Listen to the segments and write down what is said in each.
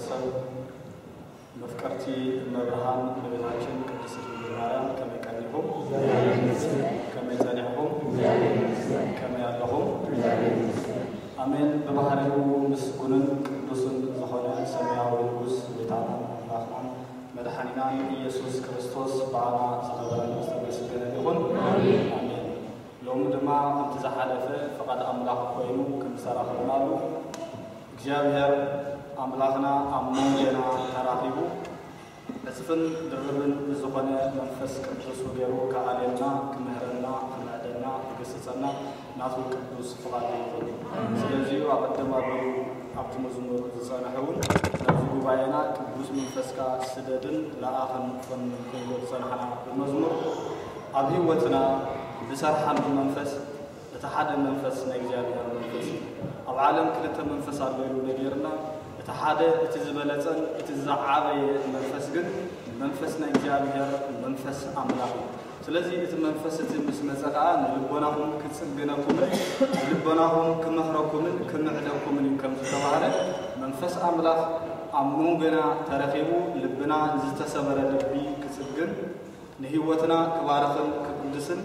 ሰብ መፍቀርቲ እመብርሃን እመቤታችን ቅድስት ድንግል ማርያም ከመይ ቀኒኹም? ከመይ ጸኒሕኹም? ከመይ ኣለኹም? ኣሜን። ብባህሪኡ ምስጉንን ቅዱስን ዝኾነ ሰማያዊ ንጉስ ጎይታናን ኣምላኽናን መድሓኒናን ኢየሱስ ክርስቶስ ብኣና ዝኸበረን ዝተመስገነ ይኹን። ኣሜን። ሎሚ ድማ ከምቲ ዝሓለፈ ፍቓድ ኣምላኽ ኮይኑ ከም ዝተራኸብናሉ እግዚኣብሔር ኣምላኽና ኣብ መንጎና ተራኺቡ ዕጽፍን ድርብን ዝኾነ መንፈስ ቅዱስ ገይሩ ክኣልየና፣ ክምህረና፣ ክምዕደና፣ ክገስጸና ናቱ ቅዱስ ፍቓዱ ይኹን። ስለዚ'ዩ ኣቐድም ኣቢሉ ኣብቲ መዝሙር ዝጸንሐ እውን ናብዚ ጉባኤና ቅዱስ መንፈስካ ስደድን ለኣኽን ፈንን ክብሎ ዝጸንሐና ብመዝሙር ኣብ ህይወትና ዝሰርሓሉ መንፈስ እቲ ሓደ መንፈስ ናይ እግዚኣብሔር መንፈስ እዩ። ኣብ ዓለም ክልተ መንፈስ ኣሎ ኢሉ ነጊርና። እቲ ሓደ እቲ ዝበለጸን እቲ ዝዓበየ መንፈስ ግን መንፈስ ናይ እግዚኣብሔር መንፈስ ኣምላኽ እዩ። ስለዚ እቲ መንፈስ እቲ ምስ መጸ ከኣ ንልቦናኹም ክጽግነኩምን ንልቦናኹም ክመኽረኩምን ክምዕደኩምን እዩ ከም ዝተባህለ መንፈስ ኣምላኽ ኣብ መንጎና ተረኺቡ ልብና ዝተሰበረ ልቢ ክጽግን ንህይወትና ክባርኽን ክቅድስን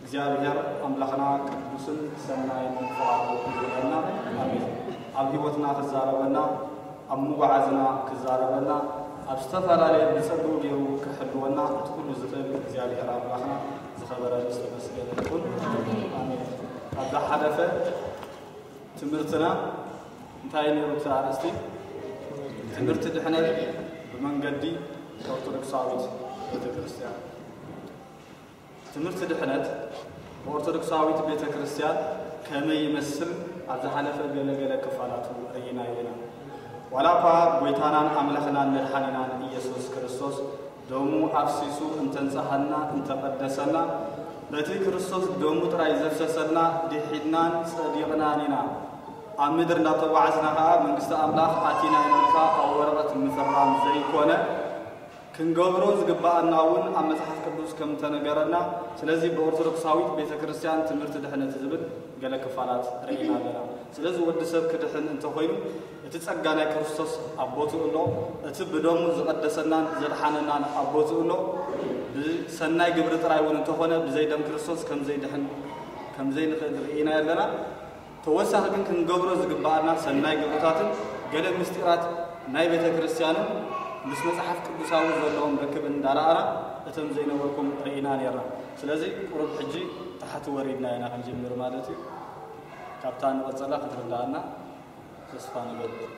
እግዚኣብሔር ኣምላኽና ቅዱስን ሰናይን ፍቓዱ ይግበረልና። ኣሜን። ኣብ ህይወትና ክዛረበና፣ ኣብ ምጉዓዝና ክዛረበና፣ ኣብ ዝተፈላለየ ብጸግኡ ገይሩ ክሕልወና እቲ ኩሉ ዝኽእል እግዚኣብሔር ኣምላኽና ዝኸበረ ዝተመስገነ ይኹን። ኣሜን። ኣብ ዝሓለፈ ትምህርትና እንታይ ነይሩ እቲ ኣርእስቲ? ትምህርቲ ድሕነት ብመንገዲ ኦርቶዶክሳዊት ቤተክርስትያን። ትምህርቲ ድሕነት ብኦርቶዶክሳዊት ቤተክርስትያን ከመይ ይመስል ኣብ ዝሓለፈ ገለ ገለ ክፋላቱ ርኢናዮ ኢና። ዋላ እኳ ጎይታናን ኣምላኽናን መድሓኒናን ኢየሱስ ክርስቶስ ደሙ ኣፍሲሱ እንተንጽሃና እንተቐደሰና በቲ ክርስቶስ ደሙ ጥራይ ዘፍሰሰልና ድሒድናን ጸዲቕናን ኢና። ኣብ ምድር እንዳተጓዓዝና ከኣ መንግስቲ ኣምላኽ ኣቲና ኢና ኢልካ ኣብ ወረቐት ምፍራም ዘይኮነ ክንገብሮ ዝግባኣና እውን ኣብ መጽሓፍ ቅዱስ ከም ተነገረና። ስለዚ ብኦርቶዶክሳዊት ቤተ ክርስቲያን ትምህርቲ ድሕነት ዝብል ገለ ክፋላት ርኢና ኣለና። ስለዚ ወዲ ሰብ ክድሕን እንተኾይኑ እቲ ጸጋ ናይ ክርስቶስ ኣብ ቦትኡ ኣሎ። እቲ ብደሙ ዝቐደሰናን ዘድሓነናን ኣብ ቦትኡ ኣሎ። ብሰናይ ግብሪ ጥራይ እውን እንተኾነ ብዘይ ደም ክርስቶስ ከም ዘይድሕን ከም ዘይንኽእል ርኢና ኣለና። ተወሳኺ ግን ክንገብሮ ዝግባኣና ሰናይ ግብርታትን ገለ ምስጢራት ናይ ቤተ ክርስቲያንን ምስ መጽሓፍ ቅዱሳዊ ዘለዎም ርክብ እንዳረኣና እቶም ዘይነበርኩም ርኢና ነይርና። ስለዚ ቁሩብ ሕጂ ታሕቲ ወሪድና ኢና ክንጅምር ማለት እዩ። ካብታ ንቐጸላ ክትርዳኣና ተስፋ ንገብር።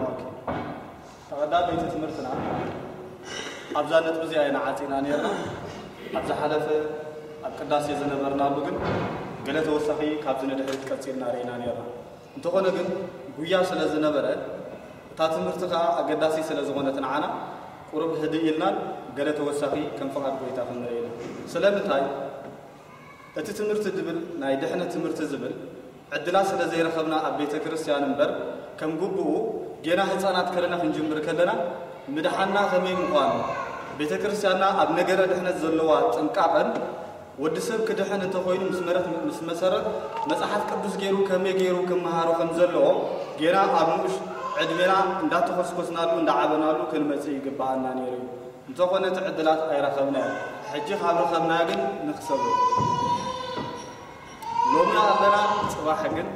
ኦኬ። ተቐዳደይቲ ትምህርትና ኣብዛ ነጥቢ እዚኣ ኢና ዓጺና ነይርና። ኣብ ዝሓለፈ ኣብ ቅዳሴ ዝነበርናሉ ግን ገለ ተወሳኺ ካብዚ ንድሕሪት ቀጺልና ርኢና ነይርና። እንተኾነ ግን ጉያ ስለ ዝነበረ እታ ትምህርቲ ከኣ ኣገዳሲ ስለ ዝኾነት ንዓና ቁሩብ ህድእ ኢልናን ገለ ተወሳኺ ከም ፍቓድ ጎይታ ክንርኢ ኢና። ስለምንታይ? እቲ ትምህርቲ ድብል ናይ ድሕነት ትምህርቲ ዝብል ዕድላት ስለ ዘይረኸብና ኣብ ቤተ ክርስቲያን እምበር ከም ግቡኡ ጌና ህጻናት ከለና ክንጅምር ከለና ምድሓንና ከመይ ምዃኑ ቤተ ክርስቲያንና ኣብ ነገረ ድሕነት ዘለዋ ጥንቃቐን ወዲ ሰብ ክድሕን እንተኾይኑ ምስ መረት ምስ መሰረት መጽሓፍ ቅዱስ ገይሩ ከመይ ገይሩ ክመሃሮ ከም ዘለዎ ጌና ኣብ ንኡሽ ዕድሜና እንዳተኾስኮስናሉ እንዳዓበናሉ ክንመጽእ ይግባኣና ነይሩ እዩ። እንተኾነ እቲ ዕድላት ኣይረኸብናዮ። ሕጂ ካብ ረኸብናዮ ግን ንኽሰቡ ሎሚ ኣለና፣ ጽባሕ ግን።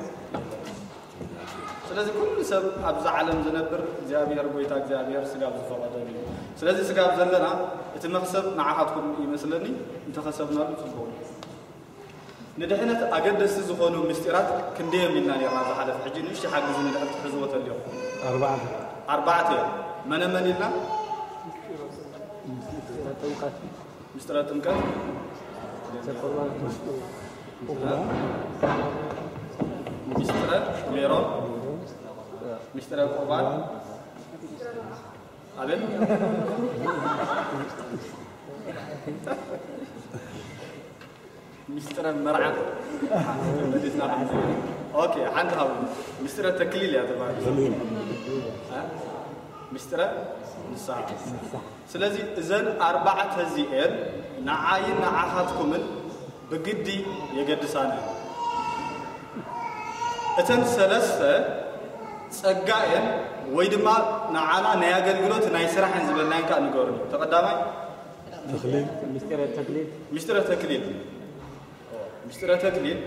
ስለዚ ኩሉ ሰብ ኣብዛ ዓለም ዝነብር እግዚኣብሔር ጎይታ እግዚኣብሔር ስጋብ ዝፈቐደሉ እዩ። ስለዚ ስጋብ ዘለና እቲ መኽሰብ ንዓኻትኩም ይመስለኒ፣ እንተኸሰብናሉ ጽቡቕ እዩ። ንድሕነት ኣገደስቲ ዝኾኑ ምስጢራት ክንደዮም ኢልና ነርና ዝሓለፈ፣ ሕጂ ንእሽተይ ሓግዙ ንድሕር ትሕዝዎ ተልዮም። ኣርባዕተ። ኣርባዕተ እዮም። መነ መን ኢልና? ምስጢረ ጥምቀት። ምስጢረ ሜሮን። ምስጢረ ቁርባን። ኣቤት። ሚስጥረ መርዓ መሊስና። ኦኬ፣ ሓንቲ ካብ ምስጢረ ተክሊል እያ ተባሂሉ። እ? ምስጢረ ንስሓ። ስለዚ እዘን ኣርባዕተ እዚኤን ንዓይን ንዓኻትኩምን ብግዲ የገድሳና። እተን ሰለስተ ጸጋ እየን፣ ወይ ድማ ንዓና ናይ ኣገልግሎት ናይ ስራሕ እየን ዝበልናየን ከኣ ንገሩኒ። ተቐዳማይ ተክሊል። ምስጢረ ተክሊል። ምስጢረ ተክሊል። ምስጢረ ተክሊል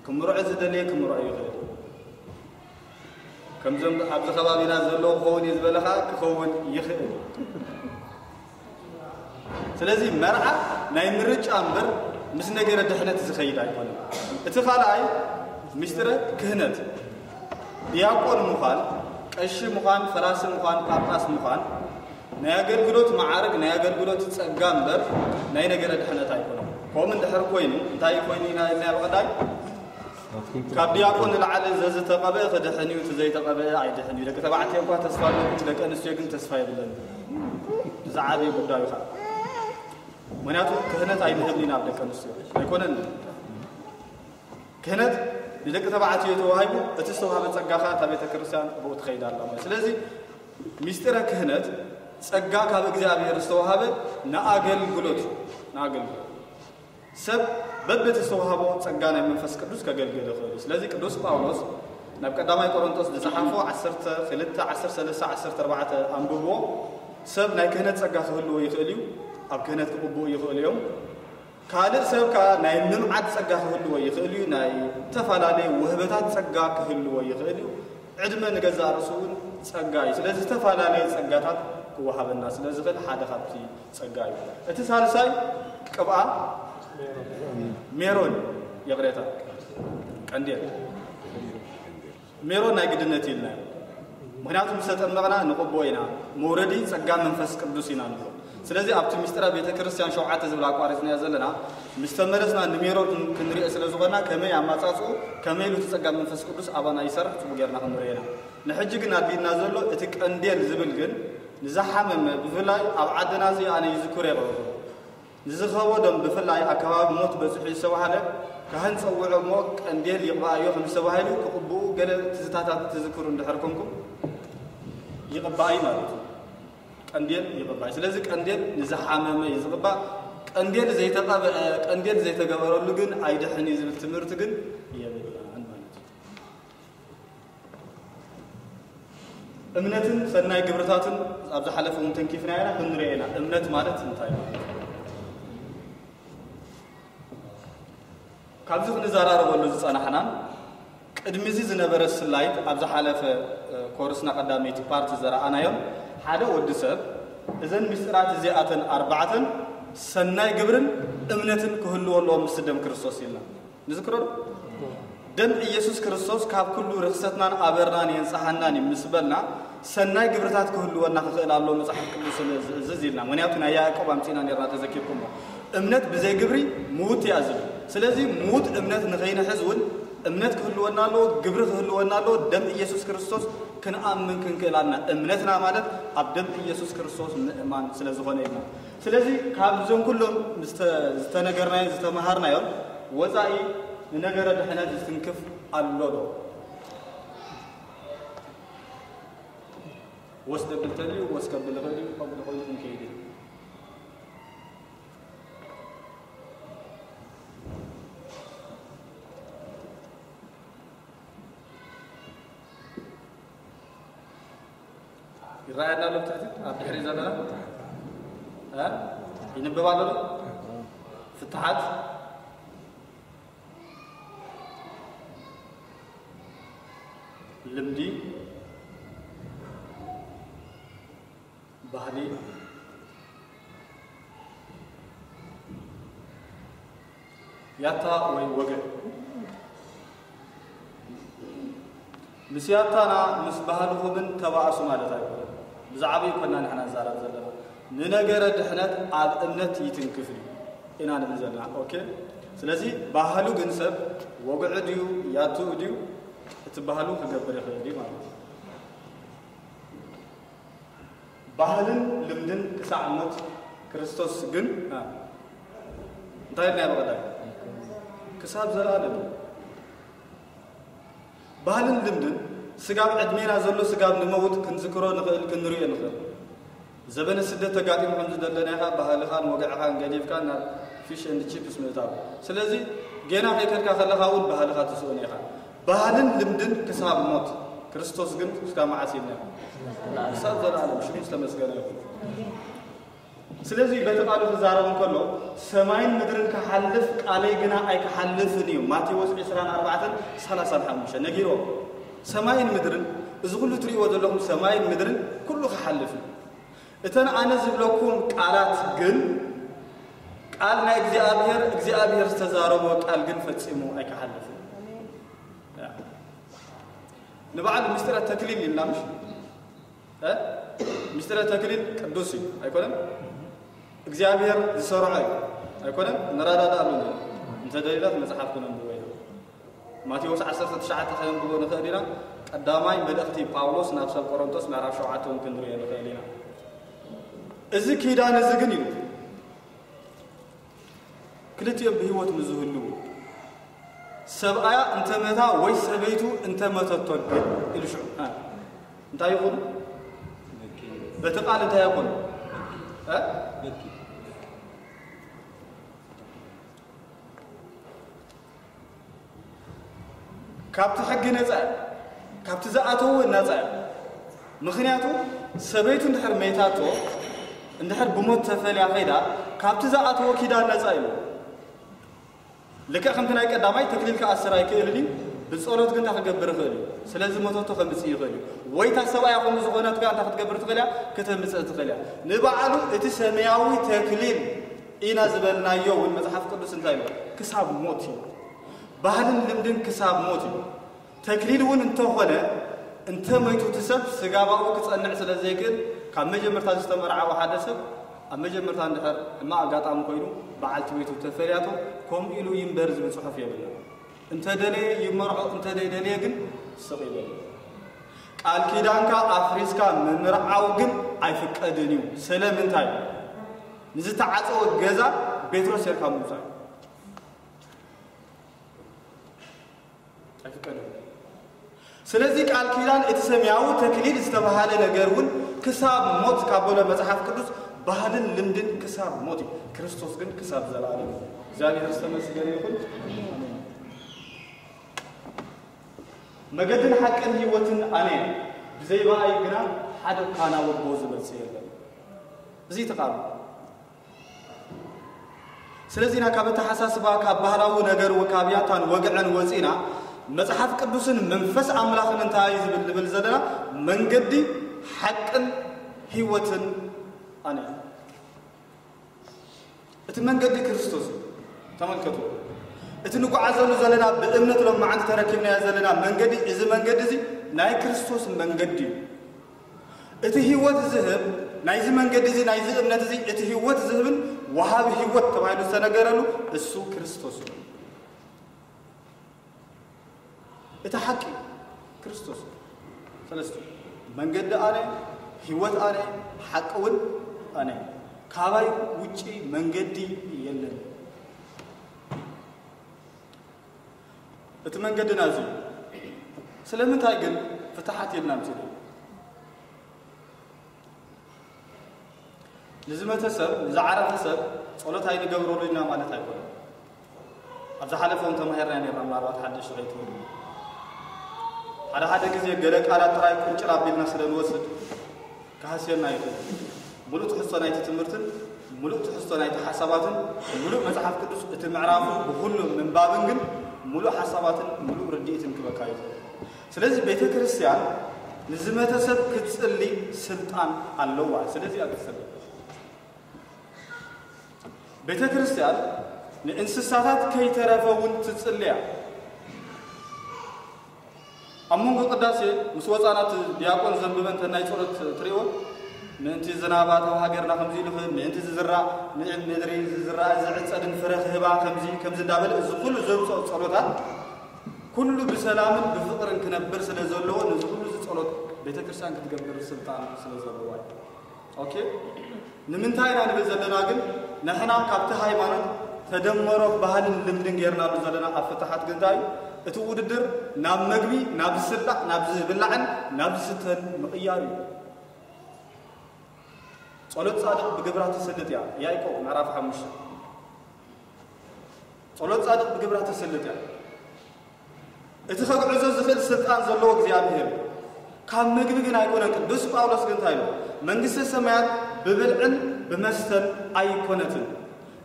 ክምርዖ ዝደለየ ክምርዖ ይኽእል። ከምዞም ኣብዚ ከባቢና ዘለዉ ክኸውን እዩ ዝበለ ከዓ ክኸውን ይኽእል። ስለዚ መርዓ ናይ ምርጫ እምበር ምስ ነገረ ድሕነት ዝኸይድ ኣይኮነን። እቲ ካልኣይ ምስጢረ ክህነት፣ ዲያቆን ምዃን፣ ቀሺ ምዃን፣ ፈላሲ ምዃን፣ ጳጳስ ምዃን ናይ ኣገልግሎት መዓርግ፣ ናይ ኣገልግሎት ጸጋ እምበር ናይ ነገረ ድሕነት ኣይኮነን። ከምኡ እንድሕር ኮይኑ እንታይ ኮይኑ ኢና ኢልና ብቐዳይ ካብ ዲያቆን ንላዕሊ ዘዝተቐብአ ክድሕን እዩ፣ እቲ ዘይተቐብአ ኣይድሕን እዩ። ደቂ ተባዕትዮ እኳ ተስፋ ኣለኩም፣ ደቂ ኣንስትዮ ግን ተስፋ የብለን። ዝዓበየ ጉዳዩ ከዓ ምክንያቱ ክህነት ኣይንህብን ኢና ኣብ ደቂ ኣንስትዮ ኣይኮነን። ክህነት ንደቂ ተባዕትዮ ተዋሂቡ፣ እቲ ዝተዋህበ ጸጋ ከዓ እታ ቤተ ክርስቲያን ብኡ ትኸይድ ኣላ ማለት። ስለዚ ሚስጢረ ክህነት ጸጋ ካብ እግዚኣብሔር ዝተዋህበ ንኣገልግሎት ንኣገልግሎት ሰብ በብቲ ዝተዋህቦ ጸጋ ናይ መንፈስ ቅዱስ ከገልግል ይኽእል እዩ። ስለዚ ቅዱስ ጳውሎስ ናብ ቀዳማይ ቆሮንቶስ ዝጸሓፎ ዓሰርተ ክልተ፣ ዓሰርተ ሰለስተ፣ ዓሰርተ ኣርባዕተ ኣንብብዎ። ሰብ ናይ ክህነት ጸጋ ክህልዎ ይኽእል እዩ፣ ኣብ ክህነት ክቕብኡ ይኽእሉ እዮም። ካልእ ሰብ ከኣ ናይ ምምዓድ ጸጋ ክህልዎ ይኽእል እዩ፣ ናይ ዝተፈላለየ ውህበታት ጸጋ ክህልዎ ይኽእል እዩ። ዕድመ ንገዛእ ርእሱ እውን ጸጋ እዩ። ስለዚ ዝተፈላለየ ጸጋታት ክወሃበና ስለ ዝኽእል ሓደ ካብቲ ጸጋ እዩ። እቲ ሳልሳይ ቅብኣ ሜሮን፣ ይቕሬታ፣ ቀንዴል። ሜሮን ናይ ግድነት ኢልና እዩ። ምክንያቱ ምስ ተጠመቕና ንቕቦ ኢና፣ መውረዲ ጸጋ መንፈስ ቅዱስ ኢና ንብሎ። ስለዚ ኣብቲ ምስጢረ ቤተ ክርስቲያን ሸውዓተ ዝብል ኣቋሪጽናዮ ዘለና፣ ምስ ተመለስና ንሜሮን ክን-፣ ክንሪኦ ስለ ዝኾንና፣ ከመይ ኣማጻጽኡ፣ ከመይ ኢሉ እቲ ጸጋ መንፈስ ቅዱስ ኣባና ይሰርሕ ጽቡቕ ጌርና ክንሪኦ ኢና። ንሕጂ ግን ኣድልዩና ዘሎ እቲ ቀንዴል ዝብል ግን ንዝሓመመ፣ ብፍላይ ኣብ ዓድና እዚ ኣነ ይዝክሮ የቐርቡ። ንዝኸበዶም ብፍላይ ኣብ ከባቢ ሞት በጺሑ ዝተባህለ ካህን ጸውዖ እሞ ቀንዴል ይቕብኣዮ ከም ዝተባህሉ ክቕብኡ ገለ ትዝታታት ትዝክሩ እንድሕር ኮንኩም ይቕባእ እዩ ማለት እዩ። ቀንዴል ይቕባእ እዩ። ስለዚ ቀንዴል ንዝሓመመ እዩ ዝቕባእ። ቀንዴል ዘይተቐብአ፣ ቀንዴል ዘይተገበረሉ ግን ኣይድሕን እዩ ዝብል ትምህርቲ ግን የብልናን ማለት እዩ። እምነትን ሰናይ ግብርታትን ኣብ ዝሓለፈ እውን ተንኪፍና ኢና፣ ክንሪኦ ኢና። እምነት ማለት እንታይ ማለት እዩ? ካብዚ ክንዘራረበሉ ዝጸናሕናን ቅድሚ እዚ ዝነበረ ስላይድ ኣብ ዝሓለፈ፣ እ፣ ኮርስና ቀዳመይቲ ፓርቲ ዘረኣናዮም ሓደ ወዲ ሰብ እዘን ምስጢራት እዚኣተን ኣርባዕተን ሰናይ ግብርን እምነትን ክህልዎ ኣለዎም ምስቲ ደም ክርስቶስ ኢልና። ንዝክሮ ዶ? ደም ኢየሱስ ክርስቶስ ካብ ኩሉ ርኽሰትናን ኣበርናን የንጽሃናን እዩ ምስ በልና፣ ሰናይ ግብርታት ክህልወና ክኽእል ኣለዎ መጽሓፍ ቅዱስ ስለ ዝእዝዝ ኢልና። ምክንያቱ ናይ ያዕቆብ ኣምጺእና ኔርና ተዘኪርኩሞ። እምነት ብዘይ ግብሪ ምዉት እያ ዝብል። ስለዚ ምዉት እምነት ንኸይንሕዝ እውን እምነት ክህልወና ኣለዎ፣ ግብሪ ክህልወና ኣለዎ፣ ደም ኢየሱስ ክርስቶስ ክንኣምን ክንክእል ኣለና። እምነትና ማለት ኣብ ደም ኢየሱስ ክርስቶስ ምእማን ስለ ዝኾነ ኢልና። ስለዚ ካብዞም ኩሎም ዝተ-፣ ዝተነገርናዮ ዝተመሃርናዮም ወጻኢ ንነገረ ድሕነት ዝትንክፍ ኣሎ ዶ? ወስ ደብል ተልዩ ወስ ከብል ይኽእል እዩ፣ ከምኡ ተኾይኑ ክንከይድ እዩ። ይረኣየና ኣሎ ትሕቲ ኣብ ድሕሪ ዘለና እ? ይንብብ ኣሎ ዶ? ፍትሓት ልምዲ ባህሊ ያታ ወይ ወገን ምስ ያታና ምስ ባህልኹምን ተባእሱ ማለት ኣይኮነን። ብዛዕባ ይኮና ንሕና ንዛረብ ዘለና ንነገረ ድሕነት ኣብ እምነት ይትንክፍ እዩ ኢና ንብል ዘለና። ኦኬ፣ ስለዚ ባህሉ ግን ሰብ ወግዑ ድዩ ያትኡ ድዩ እቲ ባህሉ ክገብር ይኽእል እዩ ማለት እዩ። ባህልን ልምድን ክሳዕ ሞት ክርስቶስ ግን እ፣ እንታይ ኢልና ብቐዳይ ክሳብ ዘላለም እዩ። ባህልን ልምድን ስጋብ ዕድሜና ዘሎ ስጋብ ንመውት ክንዝክሮ ንኽእል፣ ክንርእዮ ንኽእል። ዘበነ ስደት ተጋጢሙ ከም ዝደለናኻ ባህልኻን ወግዕኻን ገዲፍካ ናብ ፊሽ ኤንድ ቺፕስ ምእታው። ስለዚ ጌና ከይከድካ ከለኻ እውን ባህልኻ ትስእኖ ኢኻ። ባህልን ልምድን ክሳብ ሞት፣ ክርስቶስ ግን ክሳብ መዓስ ኢልና? ክሳብ ዘለኣለም። ሽሙ ዝተመስገነ ይኹን። ስለዚ በቲ ቃሉ ክዛረብ እንከሎ ሰማይን ምድርን ክሓልፍ ቃለይ ግና ኣይክሓልፍን እዩ። ማቴዎስ ዕስራን ኣርባዕተን ሰላሳን ሓሙሽተ ነጊርዎ። ሰማይን ምድርን፣ እዚ ኩሉ ትርእይዎ ዘለኹም ሰማይን ምድርን ኩሉ ክሓልፍ እዩ። እተን ኣነ ዝብለኩም ቃላት ግን፣ ቃል ናይ እግዚኣብሔር፣ እግዚኣብሔር ዝተዛረቦ ቃል ግን ፈጺሙ ኣይክሓልፍን። ንባዕሉ ምስጢረ ተክሊል ኢልና ምሽ? እ? ምስጢረ ተክሊል ቅዱስ እዩ ኣይኮነን? እግዚኣብሔር ዝሰርዖ እዩ ኣይኮነን? ንረዳዳእሉ። እንተ ደሊና መጽሓፍ ክነንብቦ ኢና። ማቴዎስ ዓሰርተ ትሽዓተ ከነንብቦ ንኽእል ኢና። ቀዳማይ መልእኽቲ ጳውሎስ ናብ ሰብ ቆሮንቶስ ምዕራፍ ሸውዓተ እውን ክንሪኦ ንኽእል ኢና። እዚ ኪዳን እዚ ግን ኢሉ፣ ክልቲኦም ብህይወት ንዝህልዉ፣ ሰብኣያ እንተመታ ወይ ሰበይቱ እንተመተቶ ግን ኢሉ ሽዑ፣ እ፣ እንታይ ይኹኑ? በቲ ቃል እንታይ ይኹኑ? እ? ካብቲ ሕጊ ነጻ እዮም። ካብቲ ዝኣተዎ ነጻ እዮም። ምኽንያቱ ሰበይቱ እንድሕር መይታቶ፣ እንድሕር ብሞት ተፈልያ ኸይዳ፣ ካብቲ ዝኣተዎ ኪዳን ነጻ እዩ። ልክዕ ከምቲ ናይ ቀዳማይ ተክሊል ክኣስር ኣይክእልን እዩ። ብጸሎት ግን እንታይ ክገብር ይኽእል እዩ? ስለ ዝመተቶ ከምጽእ ይኽእል እዩ። ወይ እታ ሰብኣያ ከምኡ ዝኾነት ከኣ እንታይ ክትገብር ትኽእል እያ? ከተምጽእ ትኽእል እያ። ንባዕሉ እቲ ሰማያዊ ተክሊል ኢና ዝበልናዮ እውን መጽሓፍ ቅዱስ እንታይ ኢሉ? ክሳብ ሞት እዩ። ባህልን ልምድን ክሳብ ሞት እዩ። ተክሊል እውን እንተኾነ፣ እንተ መይቱ እቲ ሰብ ስጋባኡ ክጸንዕ ስለ ዘይክእል፣ ካብ መጀመርታ ዝተመርዓወ ሓደ ሰብ ኣብ መጀመርታ እንድሕር ሕማቕ ኣጋጣሚ ኮይኑ በዓልቲ ቤቱ ተፈልያቶ፣ ከምኡ ኢሉ ይንበር ዝብል ጽሑፍ የብልና። እንተ ደለየ ይመርዖ፣ እንተ ዘይደለየ ግን ስቕ ይበል። ቃል ኪዳንካ ኣፍሪስካ ምምርዓው ግን ኣይፍቀድን እዩ። ስለምንታይ? ንዝተዓጸወ ገዛ ቤትሮስ ጌርካ ምውጻእ ኣይፍቀድን። ስለዚ ቃል ኪዳን እቲ ሰማያዊ ተክሊል ዝተባህለ ነገር እውን ክሳብ ሞት ካብ በሎ መጽሓፍ ቅዱስ፣ ባህልን ልምድን ክሳብ ሞት እዩ። ክርስቶስ ግን ክሳብ ዘለኣለም እዩ። እግዚኣብሔር ዝተመስገነ ይኹን። ኣሜን። መገድን ሓቅን ህይወትን ኣነ እየ፣ ብዘይ ብኣይ ግና ሓደ እኳ ናብ ኣቦ ዝመጽእ የለን። እዚ እቲ ቃል። ስለዚ ኢና ካብ ኣተሓሳስባ፣ ካብ ባህላዊ ነገር፣ ካብ ያታን ወግዕን ወጺና፣ መጽሓፍ ቅዱስን መንፈስ ኣምላኽን እንታይ እዩ ዝብል ንብል ዘለና? መንገዲ ሓቅን ህይወትን ኣነ እየ። እቲ መንገዲ ክርስቶስ እዩ። ተመልከቱ። እቲ ንጓዓዘሉ ዘለና ብእምነት ሎማዓንቲ ተረኪብናዮ ዘለና መንገዲ፣ እዚ መንገዲ እዚ ናይ ክርስቶስ መንገዲ እዩ። እቲ ህይወት ዝህብ ናይዚ መንገዲ እዚ፣ ናይዚ እምነት እዚ፣ እቲ ህይወት ዝህብን ወሃቢ ህይወት ተባሂሉ ዝተነገረሉ እሱ ክርስቶስ እዩ። እቲ ሓቂ ክርስቶስ። ሰለስተ መንገዲ ኣነ፣ ህይወት ኣነ፣ ሓቂ እውን ኣነ። ካባይ ውጪ መንገዲ የለን። እቲ መንገድና እዚ። ስለምንታይ ግን ፍትሓት የልና ምሲሉ? ንዝመተ ሰብ፣ ንዝዓረፈ ሰብ ጸሎት ኣይንገብረሉ ኢና ማለት ኣይኮነን። ኣብ ዝሓለፈ እውን ተማሂርና ነርና፣ ምናልባት ሓደሽ ሸቀይ ትህሉ። ሓደ ሓደ ግዜ ገለ ቃላት ጥራይ ቁንጭር ኣቢልና ስለ ንወስድ ክሃስየና ይኽእል። ሙሉእ ትሕዝቶ ናይቲ ትምህርትን ሙሉእ ትሕዝቶ ናይቲ ሓሳባትን ሙሉእ መጽሓፍ ቅዱስ እቲ ምዕራፉ ብኹሉ ምንባብን ግን ሙሉእ ሓሳባትን ሙሉእ ርድኢትን ክበካ ይኽእል። ስለዚ ቤተ ክርስቲያን ንዝመተ ሰብ ክትጽሊ ስልጣን ኣለዋ። ስለዚ እያ ክትጽሊ። ቤተ ክርስቲያን ንእንስሳታት ከይተረፈ እውን ትጽሊ እያ። ኣብ መንጎ ቅዳሴ ምስ ወጻና እቲ ዲያቆን ዘንብበን ተን ናይ ጸሎት ትርእይዎ፣ ምእንቲ ዝናብ ኣተው ሃገርና ከምዚ ኢሉ ክህብ፣ ምእንቲ ዝዝራእ ምድሪ ዝዝራእ ዝዕጸድን ፍረ ክህባ ከምዚ ከምዚ እንዳበለ እዚ ኩሉ ዘምጽኦ ጸሎታት ኩሉ ብሰላምን ብፍቕርን ክነብር ስለ ዘለዎ ነዚ ኩሉ እዚ ጸሎት ቤተ ክርስቲያን ክትገብር ስልጣን ስለ ዘለዋ እዩ። ኦኬ፣ ንምንታይ ኢና ንብል ዘለና ግን ንሕና ካብቲ ሃይማኖት ተደመሮ ባህልን ልምድን ጌርናሉ ዘለና ኣብ ፍትሓት ግን እንታይ እዩ? እቲ ውድድር ናብ መግቢ፣ ናብ ዝስላዕ፣ ናብ ዝብላዕን ናብ ዝስተን ምቕያር እዩ። ጸሎት ጻድቕ ብግብራ ትስልጥ እያ። ያዕቆብ ምዕራፍ ሓሙሽተ። ጸሎት ጻድቕ ብግብራ ትስልጥ እያ። እቲ ከግዕዞ ዝኽእል ስልጣን ዘለዎ እግዚኣብሔር እዩ። ካብ ምግቢ ግን ኣይኮነን። ቅዱስ ጳውሎስ ግን እንታይ ኢሉ? መንግስተ ሰማያት ብብልዕን ብመስተን ኣይኮነትን።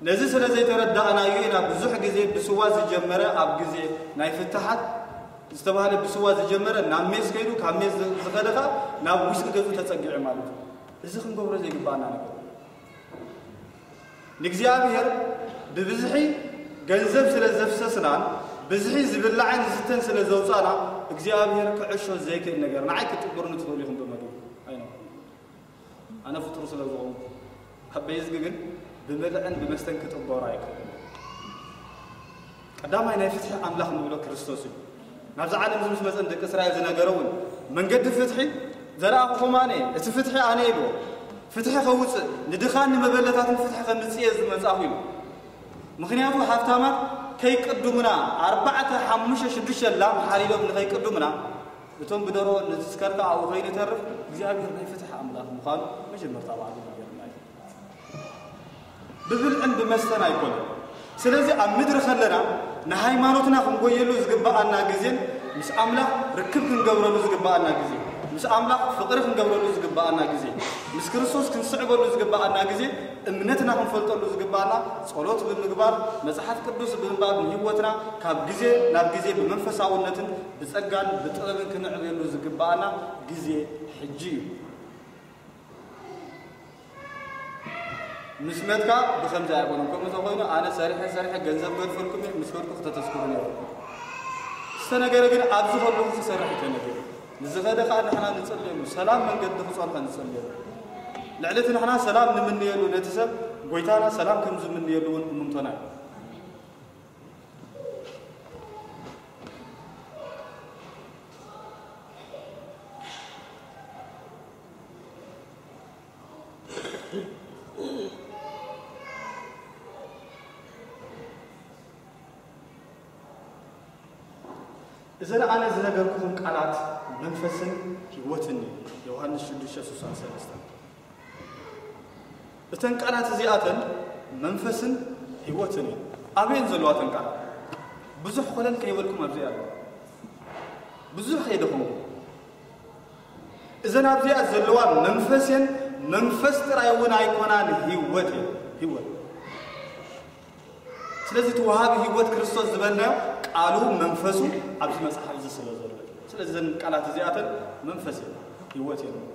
ነዚ ስለ ዘይተረዳእናዮ ኢና ብዙሕ ግዜ ብስዋ ዝጀመረ ኣብ ግዜ ናይ ፍትሓት ዝተባህለ ብስዋ ዝጀመረ ናብ ሜስ ከይዱ ካብ ሜስ ዝኸደ ኸኣ ናብ ዊስኪ ገጹ ተጸጊዑ ማለት እዩ። እዚ ክንገብሮ ዘይግባኣና ነገር እዩ። ንእግዚኣብሔር ብብዝሒ ገንዘብ ስለ ዘፍሰስናን ብዝሒ ዝብላዕን ዝስተን ስለ ዘውጻና እግዚኣብሔር ክዕሾ ዘይክእል ነገር ንዓይ ክትጥብሩኒ ትኽእሉ ኢኹም ብመግቢ ኣይነ ኣነ ፍጡር ስለ ዝኾንኩ ኣብ በይዝጊ ግን ብመልዕን ብመስተን ክጥበሩ ኣይክእልን። ቀዳማይ ናይ ፍትሒ ኣምላኽ ንብሎ ክርስቶስ እዩ። ናብዚ ዓለም እዚ ምስ መጸ ንደቂ እስራኤል ዝነገረ እውን መንገዲ ፍትሒ ዘርኣኹኹም ኣነ እየ፣ እቲ ፍትሒ ኣነ ኢልዎ። ፍትሒ ከውፅእ ንድኻን ንመበለታትን ፍትሒ ከምፅእ እየ ዝመጻኹ ኢሉ። ምኽንያቱ ሃብታማት ከይቅድሙና ኣርባዕተ ሓሙሽተ ሽዱሽተ ላም ሓሪዶም ንኸይቅድሙና እቶም ብደሮ ንዝስከርካ ኣብኡ ከይንተርፍ እግዚኣብሔር ናይ ፍትሒ ኣምላኽ ምዃኑ መጀመርታ ባዕሉ ነገርና እዩ። ብብልዕን ብመስተን ኣይኮነን። ስለዚ ኣብ ምድሪ ከለና ንሃይማኖትና ክንጎየሉ ዝግብኣና ግዜን ምስ ኣምላኽ ርክብ ክንገብረሉ ዝግብኣና ግዜ፣ ምስ ኣምላኽ ፍቕሪ ክንገብረሉ ዝግብኣና ግዜ፣ ምስ ክርስቶስ ክንስዕበሉ ዝግብኣና ግዜ፣ እምነትና ክንፈልጠሉ ዝግብኣና ጸሎት ብምግባር መጽሓፍ ቅዱስ ብምንባብ ንህይወትና ካብ ግዜ ናብ ግዜ ብመንፈሳውነትን ብጸጋን ብጥበብን ክንዕብየሉ ዝግብኣና ግዜ ሕጂ እዩ። ምስ መትካ ብኸምዚ ኣይኮነን። ከምኡ ተኾይኑ ኣነ ሰሪሐ ሰሪሐ ገንዘብ ገድፈልኩም እየ፣ ምስ ከድኩ ክተተስክሩ ነይሩ። ዝተነገረ ግን ኣብዚ ከለኹ ክሰርሕ ተነገረ። ንዝኸደ ከዓ ንሕና ንጸልየሉ፣ ሰላም መንገዲ ክጸንሖ ንጸልየሉ። ልዕሊ እቲ ንሕና ሰላም ንምንየሉ ነቲ ሰብ ጎይታና ሰላም ከም ዝምንየሉ እውን እምንቶና እዩ። እዘን ኣነ ዝነገርኩኹም ቃላት መንፈስን ህይወትን እዩ። ዮሃንስ ሽዱሽተ ስሳን ሰለስተን። እተን ቃላት እዚኣተን መንፈስን ህይወትን እዩ። ኣበየን ዘለዋ እተን ቃላት? ብዙሕ ኮለል ከይበልኩም ኣብዚ ኣሎ። ብዙሕ ከይደኸምኩም። እዘን ኣብዚኣ ዘለዋ መንፈስ እየን። መንፈስ ጥራይ እውን ኣይኮናን፣ ህይወት እየን። ህይወት። ስለዚ እቲ ወሃቢ ህይወት ክርስቶስ ዝበልናዮ ቃሉ መንፈሱ ኣብዚ መጽሓፍ እዚ ስለ ዘሎ። ስለዚ እዘን ቃላት እዚኣተን መንፈስ እየን፣ ህይወት እየን።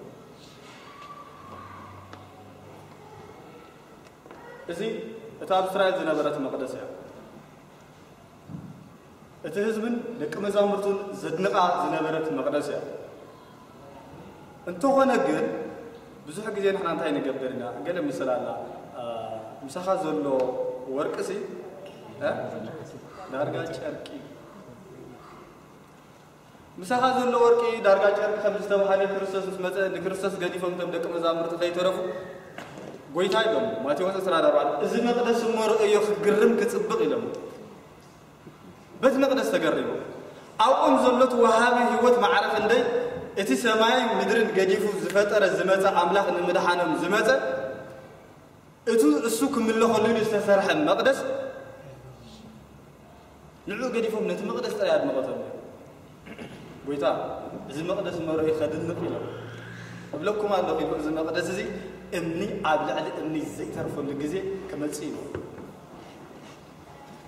እዚ እታ ኣብ እስራኤል ዝነበረት መቕደስ እያ። እቲ ህዝብን ደቂ መዛሙርቱን ዘድንቓ ዝነበረት መቕደስ እያ። እንተኾነ ግን ብዙሕ ግዜ ንሕና እንታይ ንገብር ኢና? ገለ ምስላ ኣላ፣ አ፣ ምሳኻ ዘሎ ወርቅሲ፣ እ? ዳርጋ ጨርቂ። ምሳኻ ዘሎ ወርቂ ዳርጋ ጨርቂ ከም ዝተባህለ ክርስቶስ ምስ መጸ ንክርስቶስ ገዲፎም እቶም ደቂ መዛሙርቲ ከይተረፉ ጎይታ ኢሎም። ማቴዎስ ዕስራን ኣርባዕተን፣ "እዚ መቕደስ እሞ ርእዮ ክግርም ክጽብቕ" ኢሎም። በቲ መቕደስ ተገሪሙ። ኣብኦም ዘሎ እቲ ወሃቢ ህይወት ማዕረ ክንደይ፣ እቲ ሰማይን ምድርን ገዲፉ ዝፈጠረ ዝመጸ ኣምላኽ ንምድሓኖም ዝመጸ፣ እቱ እሱ ክምለኸሉ ኢሉ ዝተሰርሐ መቕደስ፣ ንዕኡ ገዲፎም ነቲ መቕደስ ጥራይ ኣድምቐቶም። ጎይታ፣ እዚ መቕደስ መርኡ ከድንቕ ኢሎም። እብለኩም ኣለኹ ኢሉ፣ እዚ መቕደስ እዚ እምኒ ኣብ ልዕሊ እምኒ ዘይተርፈሉ ግዜ ክመጽእ ኢሉ።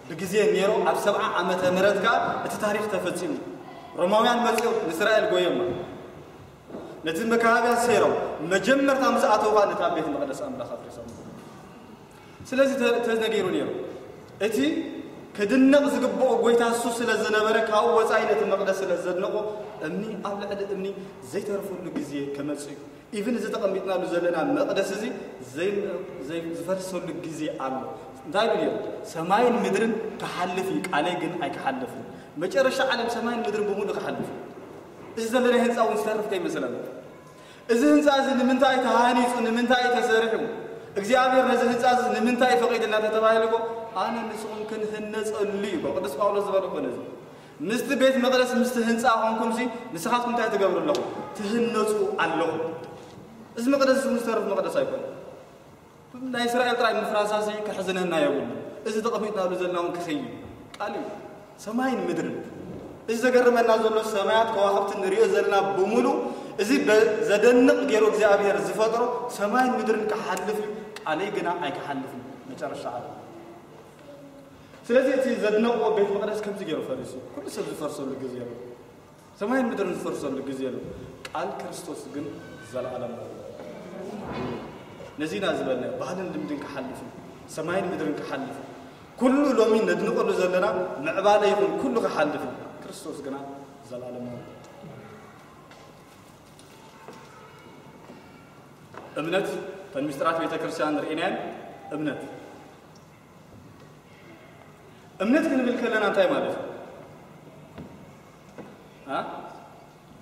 ብግዜ ኔሮ ኣብ ሰብዓ ዓመተ ምህረት ከኣ እቲ ታሪኽ ተፈጺሙ። ሮማውያን መጺኦም ንእስራኤል ጎየማ። ነቲ መካባብያ ሰይሮም መጀመርታ ምስ ኣተውኻ ነታ ቤት መቕደስ ኣምላኽ ኣፍሪሶም። ስለዚ ተ-፣ ተነጊሩ ኔሩ። እቲ ክድነቕ ዝግብኦ ጎይታ እሱ ስለ ዝነበረ ካብኡ ወጻኢ ነቲ መቕደስ ስለ ዘድነቖ እምኒ ኣብ ልዕሊ እምኒ ዘይተርፈሉ ግዜ ክመጽእ እዩ። ኢቭን እዚ ተቐሚጥናሉ ዘለና መቕደስ እዚ ዘይ-፣ ዘይ-፣ ዝፈርሰሉ ግዜ ኣሎ። እንታይ ኢሉ ነይሩ? "ሰማይን ምድርን ክሓልፍ እዩ፣ ቃለይ ግን ኣይክሓልፍን።" መጨረሻ ዓለም ሰማይን ምድርን ብምሉእ ክሓልፍ እዩ። እዚ ዘለና ህንፃ እውን ዝተርፍ ከይመስለና። እዚ ህንፃ እዚ ንምንታይ ተሃኒፁ፣ ንምንታይ ተሰሪሑ፣ እግዚኣብሔር ነዚ ህንፃ እዚ ንምንታይ ፈቒድልና ተተባሂሉ እኮ፣ ኣነ ንስኹም ክንህነፀሉ እዩ። ቅዱስ ጳውሎስ ዝበለ እኮ ነዚ። ምስቲ ቤት መቕደስ ምስቲ ህንፃ ኾንኩምሲ ንስኻትኩም እንታይ ትገብሩ ኣለኹም? ትህነፁ ኣለኹም። እዚ መቕደስ እዚ ዝተርፍ መቕደስ ኣይኮነን። ናይ እስራኤል ጥራይ ምፍራሳሲ ክሕዝነና የብሉ። እዚ ተቐሚጥናሉ ዘለና እውን ክኸይድ ቃል እዩ። ሰማይን ምድርን፣ እዚ ዘገርመና ዘሎ ሰማያት ከዋኽብቲ ንሪኦ ዘለና ብምሉ፣ እዚ በ- ዘደንቕ ገይሩ እግዚኣብሔር ዝፈጥሮ ሰማይን ምድርን ክሓልፍ እዩ። ቃለይ ግና ኣይክሓልፍን። መጨረሻ ዓለም። ስለዚ እቲ ዘድነቕዎ ቤት መቕደስ ከምዚ ገይሩ ፈሪሱ። ኩሉ ሰብ ዝፈርሰሉ ግዜ ኣሎ። ሰማይን ምድርን ዝፈርሰሉ ግዜ ኣሎ። ቃል ክርስቶስ ግን ዘለኣለም ኣሎ። ነዚና ዝበልና ባህልን ልምድን ክሓልፍ እዩ። ሰማይን ምድርን ክሓልፍ እዩ። ኩሉ ሎሚ ነድንቐሉ ዘለና ምዕባለ ይኹን ኩሉ ክሓልፍ እዩ። ክርስቶስ ግና ዘለኣለም ኣሎ። እምነት፣ ተን ምስጢራት ቤተ ክርስቲያን ርኢናየን። እምነት እምነት ክንብል ከለና እንታይ ማለት እዩ? አ?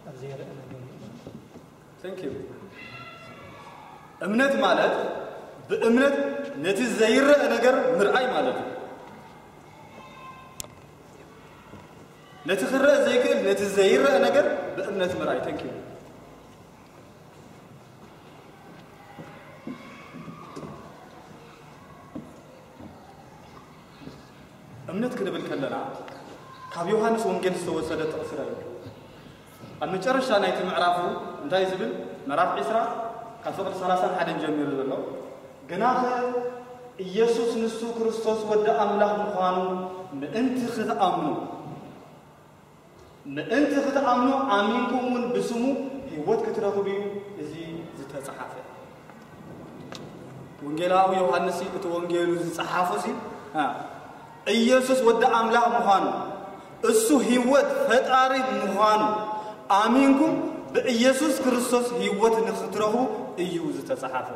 ኣብ ዘይረአ ነገር ምእማን። Thank you። እምነት ማለት ብእምነት ነቲ ዘይረአ ነገር ምርኣይ ማለት እዩ። ነቲ ክረአ ዘይክእል፣ ነቲ ዘይረአ ነገር ብእምነት ምርኣይ። Thank you። እምነት ክንብል ከለና ካብ ዮሃንስ ወንጌል ዝተወሰደ ጥቕሲ ርኣዩ። ኣብ መጨረሻ ናይቲ ምዕራፉ እንታይ ዝብል? ምዕራፍ ዕስራ ካብ ፍቕዲ ሰላሳን ሓደን ጀሚሩ ዘሎ፣ ግናኸ ኢየሱስ ንሱ ክርስቶስ ወዲ ኣምላኽ ምዃኑ ምእንቲ ክትኣምኑ፣ ምእንቲ ክትኣምኑ ኣሚንኩም እውን ብስሙ ህይወት ክትረኽቡ እዩ እዚ ዝተጻሓፈ። ወንጌላዊ ዮሃንስ እቲ ወንጌሉ ዝጸሓፎ ሲ አ፣ ኢየሱስ ወዲ ኣምላኽ ምዃኑ፣ እሱ ህይወት ፈጣሪ ምዃኑ ኣሚንኩም ብኢየሱስ ክርስቶስ ህይወት ንኽትረኽቡ እዩ ዝተጻሓፈ።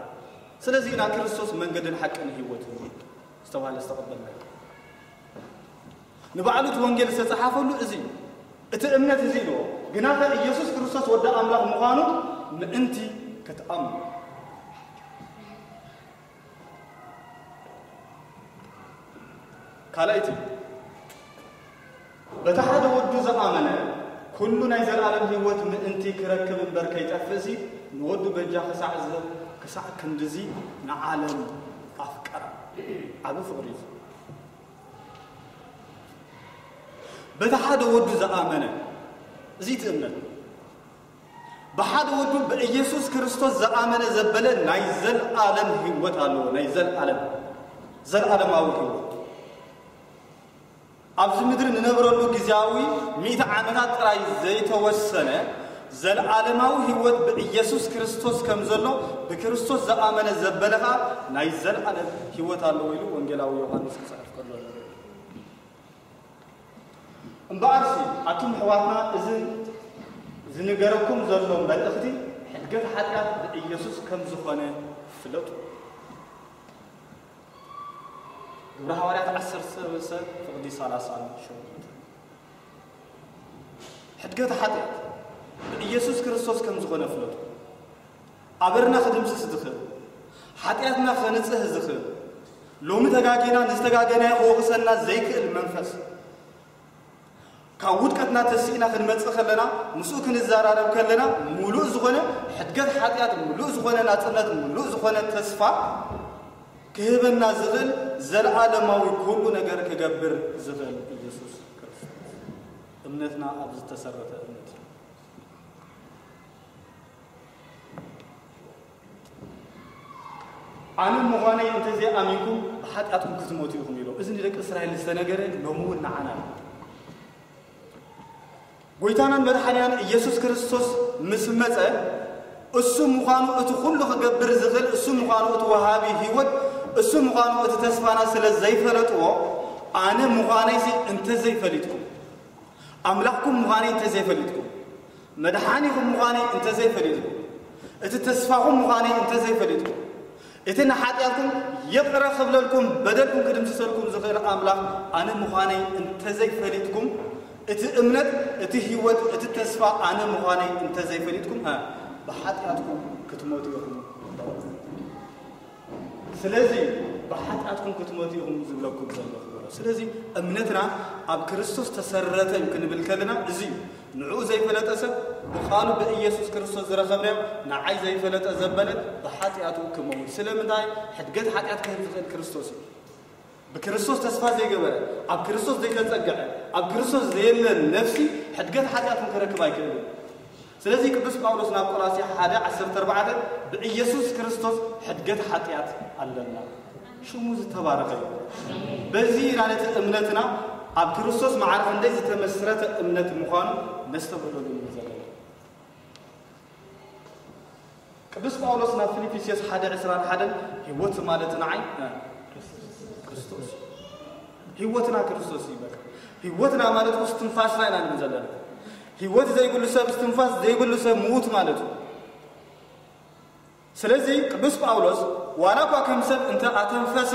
ስለዚ ኢና ክርስቶስ መንገድን ሓቅን ህይወትን ዝተባህለ ዝተቐበልና። ንባዕሉ እቲ ወንጌል ዝተጻሓፈሉ እዚ እዩ። እቲ እምነት እዚ ኢልዎ፣ ግናኸ ኢየሱስ ክርስቶስ ወዲ ኣምላኽ ምዃኑ ምእንቲ ክትኣምኑ። ካልኣይቲ፣ በቲ ሓደ ወዱ ዝኣመነ ኩሉ ናይ ዘለኣለም ህይወት ምእንቲ ክረክብ እምበር ከይጠፍእሲ፣ ንወዱ በጃ ክሳዕ ዝህብ ክሳዕ ክንድዚ ንዓለም ኣፍቀራ። ዓቢ ፍቕሪ እዩ። በቲ ሓደ ወዱ ዝኣመነ፣ እዚ እቲ እምነት፣ ብሓደ ወዱ ብኢየሱስ ክርስቶስ ዝኣመነ ዘበለ ናይ ዘለኣለም ህይወት ኣለዎ። ናይ ዘለኣለም፣ ዘለኣለማዊ ህይወት። ኣብዚ ምድሪ ንነብረሉ ግዜያዊ ሚእቲ ዓመታት ጥራይ ዘይተወሰነ፣ ዘለኣለማዊ ህይወት ብኢየሱስ ክርስቶስ ከም ዘሎ ብክርስቶስ ዝኣመነ ዘበለ ኸኣ ናይ ዘለኣለም ህይወት ኣለዎ ኢሉ ወንጌላዊ ዮሃንስ ክጽሕፍ ከሎ ንርኢ። እምበኣርሲ ኣቱም ኣሕዋትና፣ እዚ ዝንገረኩም ዘሎ መልእኽቲ ሕድገት ሓጢኣት ብኢየሱስ ከም ዝኾነ ፍለጡ። ግብረ ሃዋርያት ዓሰርተ ሰለስተ ፍቕዲ ሰላሳን ሸሞንተን። ሕድገት ሓጢኣት ብኢየሱስ ክርስቶስ ከም ዝኾነ ፍለጡ። ኣበርና ክድምስስ ዝኽእል፣ ሓጢኣትና ከንጽህ ዝኽእል፣ ሎሚ ተጋጌና ንዝተጋገናዮ ክወቕሰና ዘይክእል መንፈስ፣ ካብ ውድቀትና ተሲእና ክንመጽእ ከለና፣ ምስኡ ክንዘራረብ ከለና፣ ሙሉእ ዝኾነ ሕድገት ሓጢኣት፣ ሙሉእ ዝኾነ ናጽነት፣ ሙሉእ ዝኾነ ተስፋ ክህበና ዝኽእል፣ ዘለኣለማዊ ኩሉ ነገር ክገብር ዝኽእል ኢየሱስ ክርስቶስ። እምነትና ኣብ ዝተሰረተ እምነት እዩ። ኣነ ምዃነይ እንተዘይኣሚንኩም ብሓጢኣትኩም ክትሞቱ ኢኹም ኢሎም። እዚ ንደቂ እስራኤል ዝተነገረ ሎሚ እውን ንዓና እዩ። ጎይታናን መድሓኒናን ኢየሱስ ክርስቶስ ምስ መጸ፣ እሱ ምዃኑ፣ እቲ ኩሉ ክገብር ዝኽእል እሱ ምዃኑ፣ እቲ ወሃቢ ህይወት እሱ ምዃኑ፣ እቲ ተስፋና ስለ ዘይፈለጥዎ፣ ኣነ ምዃነይሲ እንተዘይፈሊጥኩም፣ ኣምላኽኩም ምዃነይ እንተዘይፈሊጥኩም፣ መድሓኒኹም ምዃነይ እንተዘይፈሊጥኩም፣ እቲ ተስፋኹም ምዃነይ እንተዘይፈሊጥኩም፣ እቲ ንሓጢኣትኩም ይቕረ ክብለልኩም፣ በደልኩም ክድምስሰልኩም ዝኽእል ኣምላኽ ኣነ ምዃነይ እንተዘይፈሊጥኩም፣ እቲ እምነት፣ እቲ ህይወት፣ እቲ ተስፋ ኣነ ምዃነይ እንተዘይፈሊጥኩም፣ ሀ፣ ብሓጢኣትኩም ክትሞቱ ኢኹም። ስለዚ ብሓጢኣትኩም ክትሞቱ ኢኹም ዝብለኩም ዘለኹ። ስለዚ እምነትና ኣብ ክርስቶስ ተሰረተ እዩ ክንብል ከለና እዚ እዩ። ንዕኡ ዘይፈለጠ ሰብ ብቓሉ ብኢየሱስ ክርስቶስ ዝረኸብናዮ ንዓይ ዘይፈለጠ ዘበለ ብሓጢኣቱ ክመውት። ስለምንታይ? ሕድገት ሓጢኣት ክህብ ዝኽእል ክርስቶስ እዩ። ብክርስቶስ ተስፋ ዘይገበረ፣ ኣብ ክርስቶስ ዘይተጸግዐ፣ ኣብ ክርስቶስ ዘየለ ነፍሲ ሕድገት ሓጢኣት እውን ክረክብ ኣይክእልን። ስለዚ ቅዱስ ጳውሎስ ናብ ቆላስያ ሓደ ዓሰርተ ኣርባዕተ ብኢየሱስ ክርስቶስ ሕድገት ሓጢኣት ኣለና። ሽሙ ዝተባረኸ እዩ። በዚ ኢና ነቲ እምነትና ኣብ ክርስቶስ ማዕረ ክንደይ ዝተመስረተ እምነት ምዃኑ ነስተብህለሉ ኢና ዘለና። ቅዱስ ጳውሎስ ናብ ፊልጵስዩስ ሓደ ዕስራን ሓደን ህይወት ማለት ንዓይ ክርስቶስ፣ ህይወትና ክርስቶስ እዩ። በቃ ህይወትና ማለት ውስጥ ትንፋስና ኢና ንብል ዘለና። ህይወት ዘይብሉ ሰብ፣ ትንፋስ ዘይብሉ ሰብ ምዉት ማለት እዩ። ስለዚ ቅዱስ ጳውሎስ ዋላ እኳ ከም ሰብ እንተ ኣተንፈሰ፣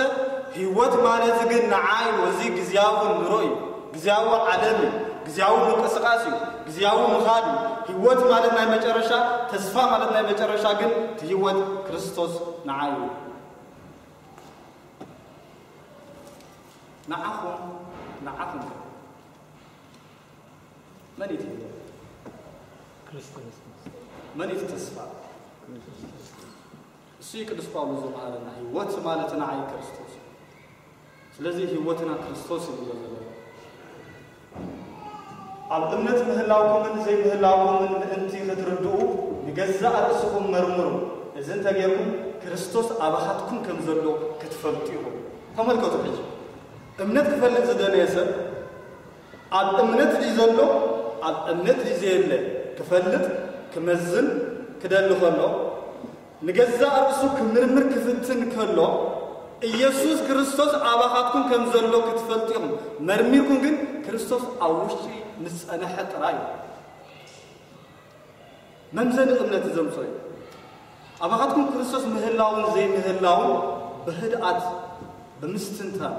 ህይወት ማለት ግን ንዓይ እዚ ግዝያዊ ኑሮ እዩ፣ ግዝያዊ ዓለም እዩ፣ ግዝያዊ ምንቅስቃስ እዩ፣ ግዝያዊ ምኻድ እዩ። ህይወት ማለት ናይ መጨረሻ፣ ተስፋ ማለት ናይ መጨረሻ ግን እቲ ህይወት ክርስቶስ ንዓይ እዩ። ንዓኹም፣ ንዓኹም መን እዩ እቲ ህይወት? ክርስቶስ። መን እዩ እቲ ተስፋ? እሱ እዩ ቅዱስ ጳውሎስ ዝመሃረና፣ ህይወት ማለት ንዓይ ክርስቶስ እዩ። ስለዚ ህይወትና ክርስቶስ እዩ ዝብሎ ዘሎ። ኣብ እምነት ምህላውኩምን ዘይምህላውኩምን ምእንቲ ክትርድኡ ንገዛእ ርእስኹም መርምሩ። እዚ እንተጌርኩም ክርስቶስ ኣባኻትኩም ከም ዘሎ ክትፈልጡ ኢኹም። ተመልከቱ ሕጂ፣ እምነት ክፈልጥ ዝደለየ ሰብ ኣብ እምነት ድዩ ዘሎ፣ ኣብ እምነት ድዩ ዘየለ ክፈልጥ፣ ክመዝን ክደሊ ከሎ፣ ንገዛእ ርእሱ ክምርምር ክፍትን ከሎ፣ ኢየሱስ ክርስቶስ ኣባኻትኩም ከም ዘሎ ክትፈልጡ ኢኹም። መርሚርኩም ግን ክርስቶስ ኣብ ውሽጢ ምስ ጸንሐ ጥራይ እዩ። መምዘኒ እምነት ዘምጾ እዩ። ኣባኻትኩም ክርስቶስ ምህላውን ዘይምህላውን ብህድኣት፣ ብምስትንታን፣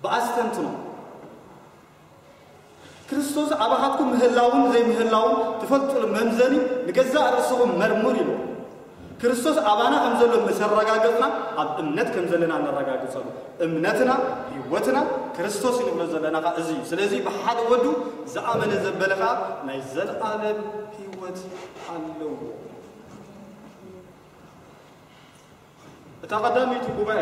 ብኣስተንትኖ ክርስቶስ ኣባኻትኩም ምህላውን ዘይምህላውን ትፈልጡሉ መምዘኒ ንገዛእ ርእስኹም መርምሩ ኢሉ። ክርስቶስ ኣባና ከም ዘሎ ምስ ኣረጋገጽና ኣብ እምነት ከም ዘለና ነረጋግጸሉ። እምነትና፣ ህይወትና ክርስቶስ እዩ ንብሎ ዘለና ኸኣ እዚ እዩ። ስለዚ ብሓደ ወዱ ዝኣመነ ዘበለ ኸኣ ናይ ዘለኣለም ህይወት ኣለዎ። እታ ቀዳመይቲ ጉባኤ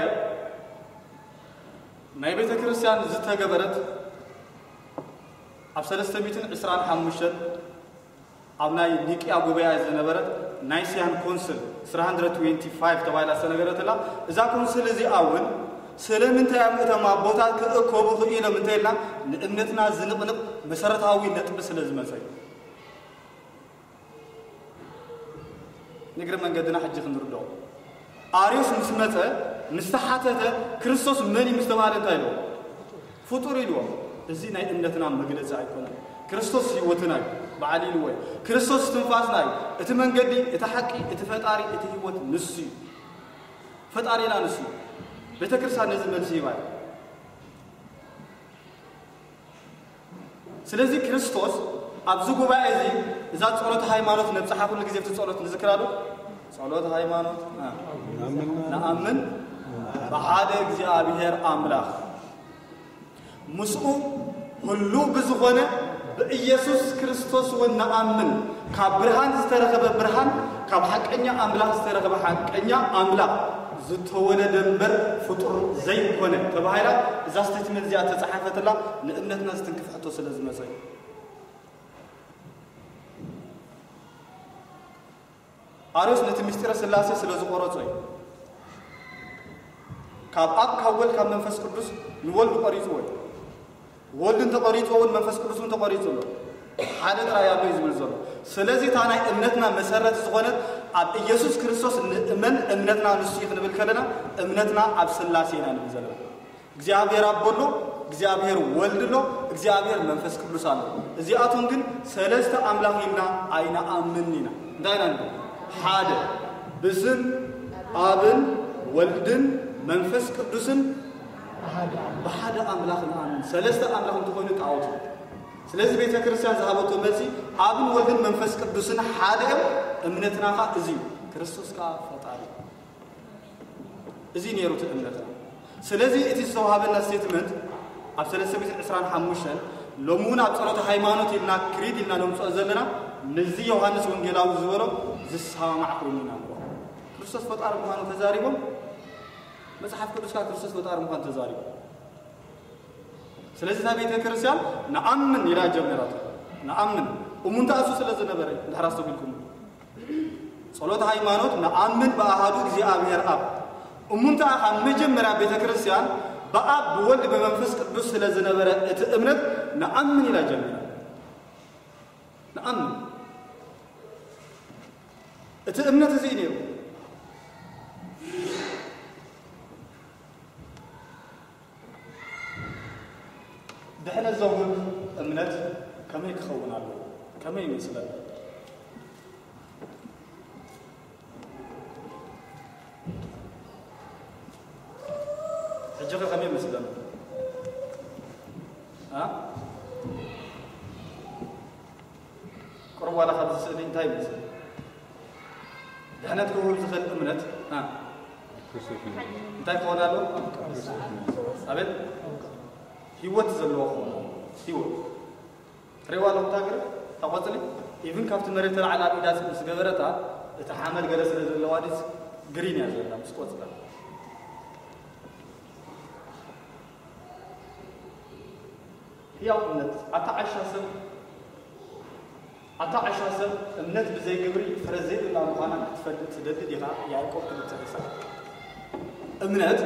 ናይ ቤተ ክርስቲያን ዝተገበረት ኣብ ሰለስተ ሚእትን ዕስራን ሓሙሽተን ኣብ ናይ ኒቅያ ጉባኤ ዝነበረት ናይስያን ኮንስል ስራ ሃንድረድ ትዌንቲ ፋይቭ ተባሂላ ዝተነገረትላ። እዛ ኮንስል እዚኣ እውን ስለምንታይ ኣብ እቶም ኣቦታት ክእከቡ ክኢሎም እንተኢልና ንእምነትና ዝንቕንቕ መሰረታዊ ነጥቢ ስለ ዝመጸ እዩ። ንእግረ መንገድና ሕጂ ክንርድኦ። ኣርዮስ ምስ መጸ፣ ምስ ተሓተተ፣ ክርስቶስ መን እዩ ምስ ተባሃለ እንታይ ኢልዎ? ፍጡር ኢልዎ። እዚ ናይ እምነትና መግለጺ ኣይኮነን። ክርስቶስ ህይወትና እዩ፣ በዓል ኢልዎ እዩ። ክርስቶስ ትንፋስና እዩ። እቲ መንገዲ፣ እቲ ሓቂ፣ እቲ ፈጣሪ፣ እቲ ህይወት ንሱ እዩ። ፈጣሪና ንሱ እዩ። ቤተ ክርስቲያን ነዚ መልሲ ሂባ እያ። ስለዚ ክርስቶስ ኣብዚ ጉባኤ እዚ እዛ ጸሎት ሃይማኖት ነብጽሓ፣ ኩሉ ግዜ እቲ ጸሎት ንዝክራሉ። ጸሎት ሃይማኖት፣ እ፣ ንኣምን ብሓደ እግዚኣብሔር ኣምላኽ፣ ምስኡ ህሉው ብዝኾነ ብኢየሱስ ክርስቶስ እውን ንኣምን። ካብ ብርሃን ዝተረኸበ ብርሃን፣ ካብ ሓቀኛ ኣምላኽ ዝተረኸበ ሓቀኛ ኣምላኽ ዝተወለደ እምበር ፍጡር ዘይኮነ ተባሂላ እዛ ስቴትመንት እዚኣ ተጻሓፈትላ ንእምነትና ዝትንክፍ ሕቶ ስለ ዝመጸ እዩ። ኣርዮስ ነቲ ምስጢረ ስላሴ ስለ ዝቆረጾ እዩ። ካብ ኣብ፣ ካብ ወልድ፣ ካብ መንፈስ ቅዱስ ንወልድ ቆሪጽዎ እዩ። ወልድ እንተቆሪጽዎ እውን መንፈስ ቅዱስ እውን ተቆሪጹ ኣሎ። ሓደ ጥራይ ኣሎ እዩ ዝብል ዘሎ። ስለዚ እታ ናይ እምነትና መሰረት ዝኾነት ኣብ ኢየሱስ ክርስቶስ ንእመን፣ እምነትና ንሱ እዩ ክንብል ከለና እምነትና ኣብ ስላሴ ኢና ንብል ዘለና። እግዚኣብሔር ኣቦ ኣሎ፣ እግዚኣብሔር ወልድ ኣሎ፣ እግዚኣብሔር መንፈስ ቅዱስ ኣሎ። እዚኣቶም ግን ሰለስተ ኣምላኽ ኢልና ኣይንኣምን ኢና። እንታይ ኢና ንብል? ሓደ ብስም ኣብን ወልድን መንፈስ ቅዱስን ብሓደ ኣምላኽ ንኣምን። ሰለስተ ኣምላኽ እንተኾይኑ ጣዖት እዩ። ስለዚ ቤተ ክርስቲያን ዝሃበቶ መልሲ ኣብን ወልድን መንፈስ ቅዱስን ሓደ እዮም፣ እምነትና ኸኣ እዚ እዩ። ክርስቶስ ከኣ ፈጣሪ እዩ። እዚ ነይሩ እቲ እምነትና። ስለዚ እቲ ዝተዋሃበና ስቴትመንት ኣብ ሰለስተ ሚእትን ዕስራን ሓሙሽተን ሎሚ እውን ኣብ ጸሎተ ሃይማኖት ኢልና ክሪድ ኢልና ነምጽኦ ዘለና ምስዚ ዮሃንስ ወንጌላዊ ዝበሎ ዝሰማማዕ ኮይኑ ኢና ንረኽቦ። ክርስቶስ ፈጣሪ ምዃኑ ተዛሪቦም፣ መጽሓፍ ቅዱስ ከኣ ክርስቶስ ፈጣሪ ምዃኑ ተዛሪቦም። ስለዚ እታ ቤተ ክርስቲያን ንኣምን ኢላ ጀሚራቶ። ንኣምን እሙንታ እሱ ስለ ዝነበረ ድሕር ኣስተውዒልኩም ጸሎት ሃይማኖት ንኣምን ብኣሃዱ እግዚኣብሔር ኣብ እሙንታ ካብ መጀመርያ ቤተ ክርስቲያን ብኣብ ብወልድ ብመንፈስ ቅዱስ ስለ ዝነበረ እቲ እምነት ንኣምን ኢላ ጀሚራ። ንኣምን እቲ እምነት እዚ እዩ ነይሩ። ድሕነት ዘውህብ እምነት ከመይ ክኸውን ኣለዎ? ከመይ ይመስለና? ሕጂ ኸ ከመይ ይመስለና? ኣ? ቁሩብ ዋላ ካብዚ ስእሊ እንታይ ይመስል? ድሕነት ክውህብ ዝኽእል እምነት ኣ? እንታይ ክኸውን ኣለዎ? ኣቤት? ህይወት ዘለዎ ክኸውን ኣለዎ። ህይወት። ትሪእዋ ኣለኹም እታ ገለ? እታ ቆጽሊ? ኢቭን ካብቲ መሬት ተላዕላ ኣብ ኢዳ ምስ ገበረታ፣ እቲ ሓመድ ገለ ስለ ዘለዋ ድስ ግሪን እያ ዘላ ምስ ቆጽላ። ህያው እምነት። ኣታ ዓሻ ሰብ፣ ኣታ ዓሻ ሰብ፣ እምነት ብዘይ ግብሪ ፍረ ዘይብላ ምዃና ክትፈልጥ ትደሊ ዲኻ? ያዕቆብ ክልተ ዕስራ። እምነት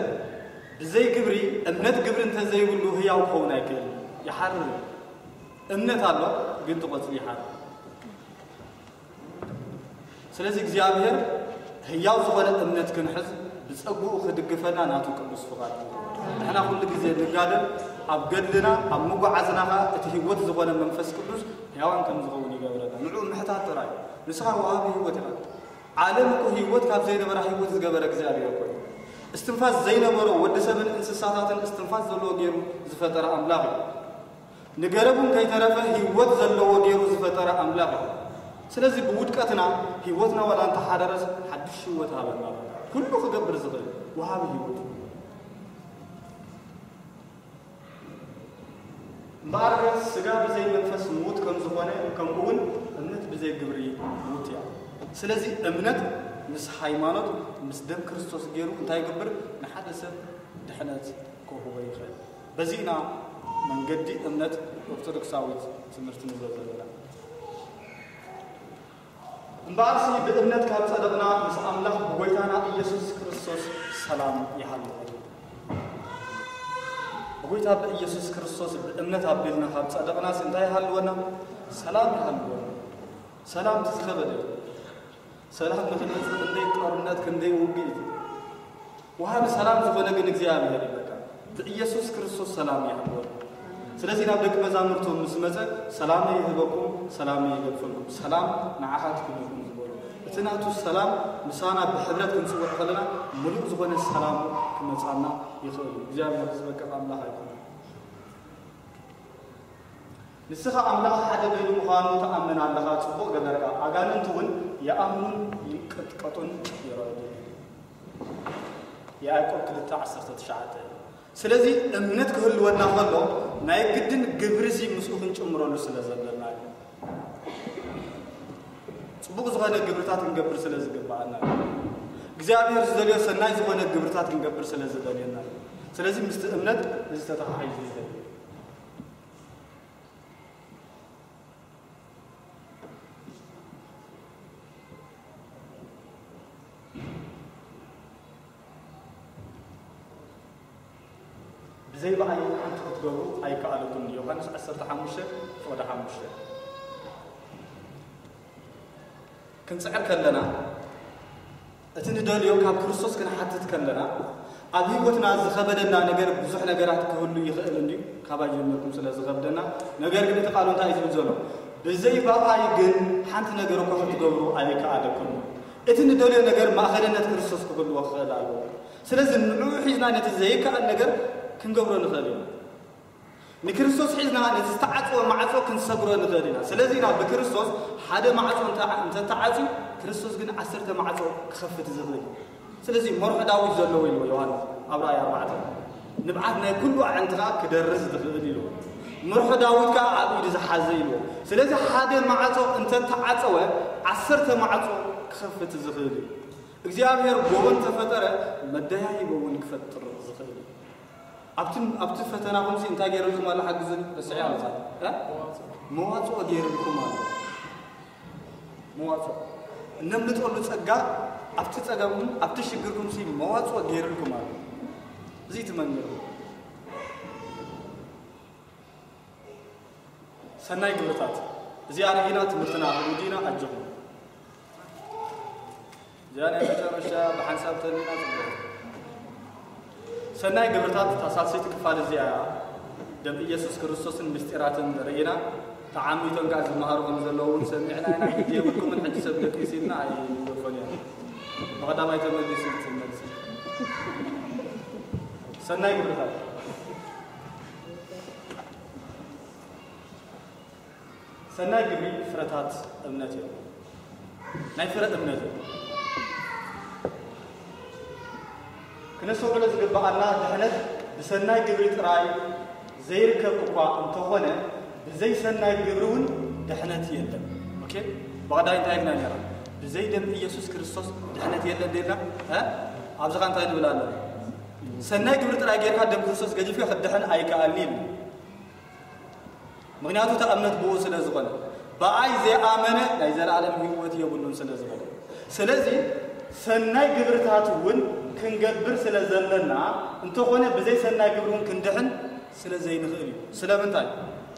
ብዘይ ግብሪ፣ እምነት ግብሪ እንተዘይብሉ ህያው ክኸውን ኣይክእልን። ይሓርር። እምነት ኣሎ፣ ግን እቲ ቆጽሊ ይሓርር። ስለዚ እግዚኣብሔር ህያው ዝኾነ እምነት ክንሕዝ ብጸግኡ ክድግፈና ናቱ ቅዱስ ፍቓድ እዩ። ንሕና ኩሉ ግዜ ንጋደል፣ ኣብ ገድልና፣ ኣብ ምጉዓዝና ኸኣ እቲ ህይወት ዝኾነ መንፈስ ቅዱስ ህያዋን ከም ዝኸውን ይገብረና። ንዕኡ ምሕታት ጥራይ። ንስኻ ወሃቢ ህይወት ኢኻ። ዓለም እኮ ህይወት ካብ ዘይነበራ ህይወት ዝገበረ እግዚኣብሔር እኮ እዩ። እስትንፋስ ዘይነበሮ ወዲ ሰብን እንስሳታትን እስትንፋስ ዘለዎ ገይሩ ዝፈጠረ ኣምላኽ እዩ። ንገረቡ ከይተረፈ ህይወት ዘለዎ ገይሩ ዝፈጠረ ኣምላኽ እዩ። ስለዚ ብውድቀትና ህይወትና ዋላ እንተሓደረስ ሓድሽ ህይወት ሃበና። ኩሉ ክገብር ዝኽእል ወሃቢ ህይወት እዩ። እምበኣር ስጋ ብዘይ መንፈስ ምዉት ከም ዝኾነ፣ ከምኡ እውን እምነት ብዘይ ግብሪ ምዉት እያ። ስለዚ እምነት ምስ ሃይማኖት፣ ምስ ደም ክርስቶስ ገይሩ እንታይ ይገብር? ንሓደ ሰብ ድሕነት ክህቦ ይኽእል። በዚ ኢና መንገዲ እምነት ኦርቶዶክሳዊት ትምህርቲ ንብሎ ዘለና። እምበኣርሲ ብእምነት ካብ ጸደቕና ምስ ኣምላኽ ብጎይታና ኢየሱስ ክርስቶስ ሰላም ይሃልወና። ብጎይታ ብኢየሱስ ክርስቶስ ብእምነት ኣቢልና ካብ ጸደቕናስ እንታይ ይሃልወና? ሰላም ይሃልወና። ሰላም እቲ ዝኸበደ እዩ። ሰላም ንኽንመጽእ ክንደይ ጦርነት፣ ክንደይ ውግእ እዩ። ወሃቢ ሰላም ዝኾነ ግን እግዚኣብሔር እዩ። በቃ ብኢየሱስ ክርስቶስ ሰላም ይሃልወና። ስለዚ ናብ ደቂ መዛሙርቱ ምስ መጸ፣ "ሰላመይ ይህበኩም፣ ሰላመይ ይገድፈልኩም፣ ሰላም ንዓኻትኩም ይኹን" ዝበሎ። እቲ ናቱ ሰላም ምሳና ብሕብረት ክንጽውዕ ከለና፣ ምሉእ ዝኾነ ሰላም ክመጻና ይኽእል እዩ። እግዚኣብሔር ዝበቅዕ ኣምላኽ ኣይኮነን። ንስኻ ኣምላኽ ሓደ ገይሩ ምዃኑ ትኣምን ኣለኻ፣ ጽቡቕ ገበርካ። ኣጋንንት እውን ይኣምኑን ይንቀጥቀጡን ይረኣዩ። ያዕቆብ ክልተ ዓሰርተ ትሽዓተ። ስለዚ እምነት ክህልወና ከሎ ናይ ግድን ግብሪ እዚ ምስኡ ክንጭምረሉ ስለ ዘለና እዩ። ጽቡቕ ዝኾነ ግብርታት ክንገብር ስለ ዝግብኣና እዩ። እግዚኣብሔር ዝደልዮ ሰናይ ዝኾነ ግብርታት ክንገብር ስለ ዝደልየና እዩ። ስለዚ ምስቲ እምነት እዚ ተተሓሒዙ ይኸይድ። ብዘይ ብኣይ ሓንቲ ክትገብሩ ኣይከኣለኩምን። ዮሃንስ ዓሰርተ ሓሙሽተ ፍቕዲ ሓሙሽተ። ክንጽዕር ከለና፣ እቲ ንደልዮ ካብ ክርስቶስ ክንሓትት ከለና፣ ኣብ ህይወትና ዝኸበደና ነገር ብዙሕ ነገራት ክህሉ ይኽእል እንድዩ፣ ካባይ ጀመርኩም ስለ ዝኸብደና። ነገር ግን እቲ ቃሉ እንታይ እዩ ዝብል ዘሎ? ብዘይ ብኣይ ግን ሓንቲ ነገር እኳ ክትገብሩ ኣይከኣለኩምን። እቲ ንደልዮ ነገር ማእኸልነት ክርስቶስ ክህልዎ ክኽእል ኣለዎ። ስለዚ ንዕኡ ሒዝና ነቲ ዘይከኣል ነገር ክንገብሮ ንኽእል ኢና። ንክርስቶስ ሒዝና ነቲ ዝተዓጽወ ማዕጾ ክንሰግሮ ንኽእል ኢና። ስለዚ ኢና ብክርስቶስ ሓደ ማዕጾ እንተ-፣ እንተተዓጽዩ፣ ክርስቶስ ግን ዓሰርተ ማዕጾ ክኸፍት ዝኽእል እዩ። ስለዚ መርሖ ዳዊት ዘለዎ ኢልዎ ዮሃንስ ኣብ ራእይ ኣርባዕተ። ንብዓት ናይ ኩሉ ኣዕንቲ ከዓ ክደርዝ ዝኽእል ኢልዎ። መርሖ ዳዊት ከዓ ኣብ ኢዱ ዝሓዘ ኢልዎ። ስለዚ ሓደ ማዕጾ እንተተዓጸወ ዓሰርተ ማዕጾ ክኸፍት ዝኽእል እዩ። እግዚኣብሔር ጎቦ እንተፈጠረ መደያይቦ እውን ክፈጥር ዝኽእል እዩ። ኣብቲ ኣብቲ ፈተናኹምሲ እንታይ ገይርልኩም ኣሎ? ሓግዙኒ። ረስዐ ኣልጻ መዋጽኦ ገይርልኩም ኣሎ። መዋጽኦ እነምልጠሉ ጸጋ ኣብቲ ጸገምኩም ኣብቲ ሽግርኩምሲ መዋጽኦ ገይርልኩም ኣሎ። እዚ ትመንገሩ ሰናይ ግብርታት እዚኣ ርኢና ትምህርትና ውዲና ኣጆኹም። እዚኣ ናይ መጨረሻ ብሓንሳብ ተሊና ጽቡቕ። ሰናይ ግብርታት እታ ሳልሰይቲ ክፋል እዚኣ እያ። ደም ኢየሱስ ክርስቶስን ምስጢራትን ርኢና ተዓሚቶም ከዓ ዝመሃሩ ከም ዘለዉ እውን ሰሚዕና ኢና። ግዜ የብልኩምን ሕጂ ሰብ ደቂስ ኢልና ኣይንገድፎን ኢና። ብቐዳማይ ተመሊሱ እቲ መልሲ። ሰናይ ግብርታት ሰናይ ግብሪ ፍረታት እምነት እዮም። ናይ ፍረ እምነት እዮም። ክነስተውዕሎ ዝግብኣና ድሕነት ብሰናይ ግብሪ ጥራይ ዘይርከብ እኳ እንተኾነ ብዘይ ሰናይ ግብሪ እውን ድሕነት የለን። ኦኬ፣ ብቐዳይ እንታይ ኢልና ነራ? ብዘይ ደም ኢየሱስ ክርስቶስ ድሕነት የለን ደልና። ኣብዚ ኸ እንታይ ንብል ኣለና? ሰናይ ግብሪ ጥራይ ጌርካ ደም ክርስቶስ ገዲፍካ ክድሕን ኣይከኣልን ኢልና። ምክንያቱ እታ እምነት ብኡ ስለ ዝኾነ፣ ብኣይ ዘይኣመነ ናይ ዘለኣለም ህይወት የብሉን ስለ ዝበለ። ስለዚ ሰናይ ግብርታት እውን ክንገብር ስለ ዘለና፣ እንተኾነ ብዘይ ሰናይ ግብሪ እውን ክንድሕን ስለ ዘይንኽእል እዩ። ስለምንታይ?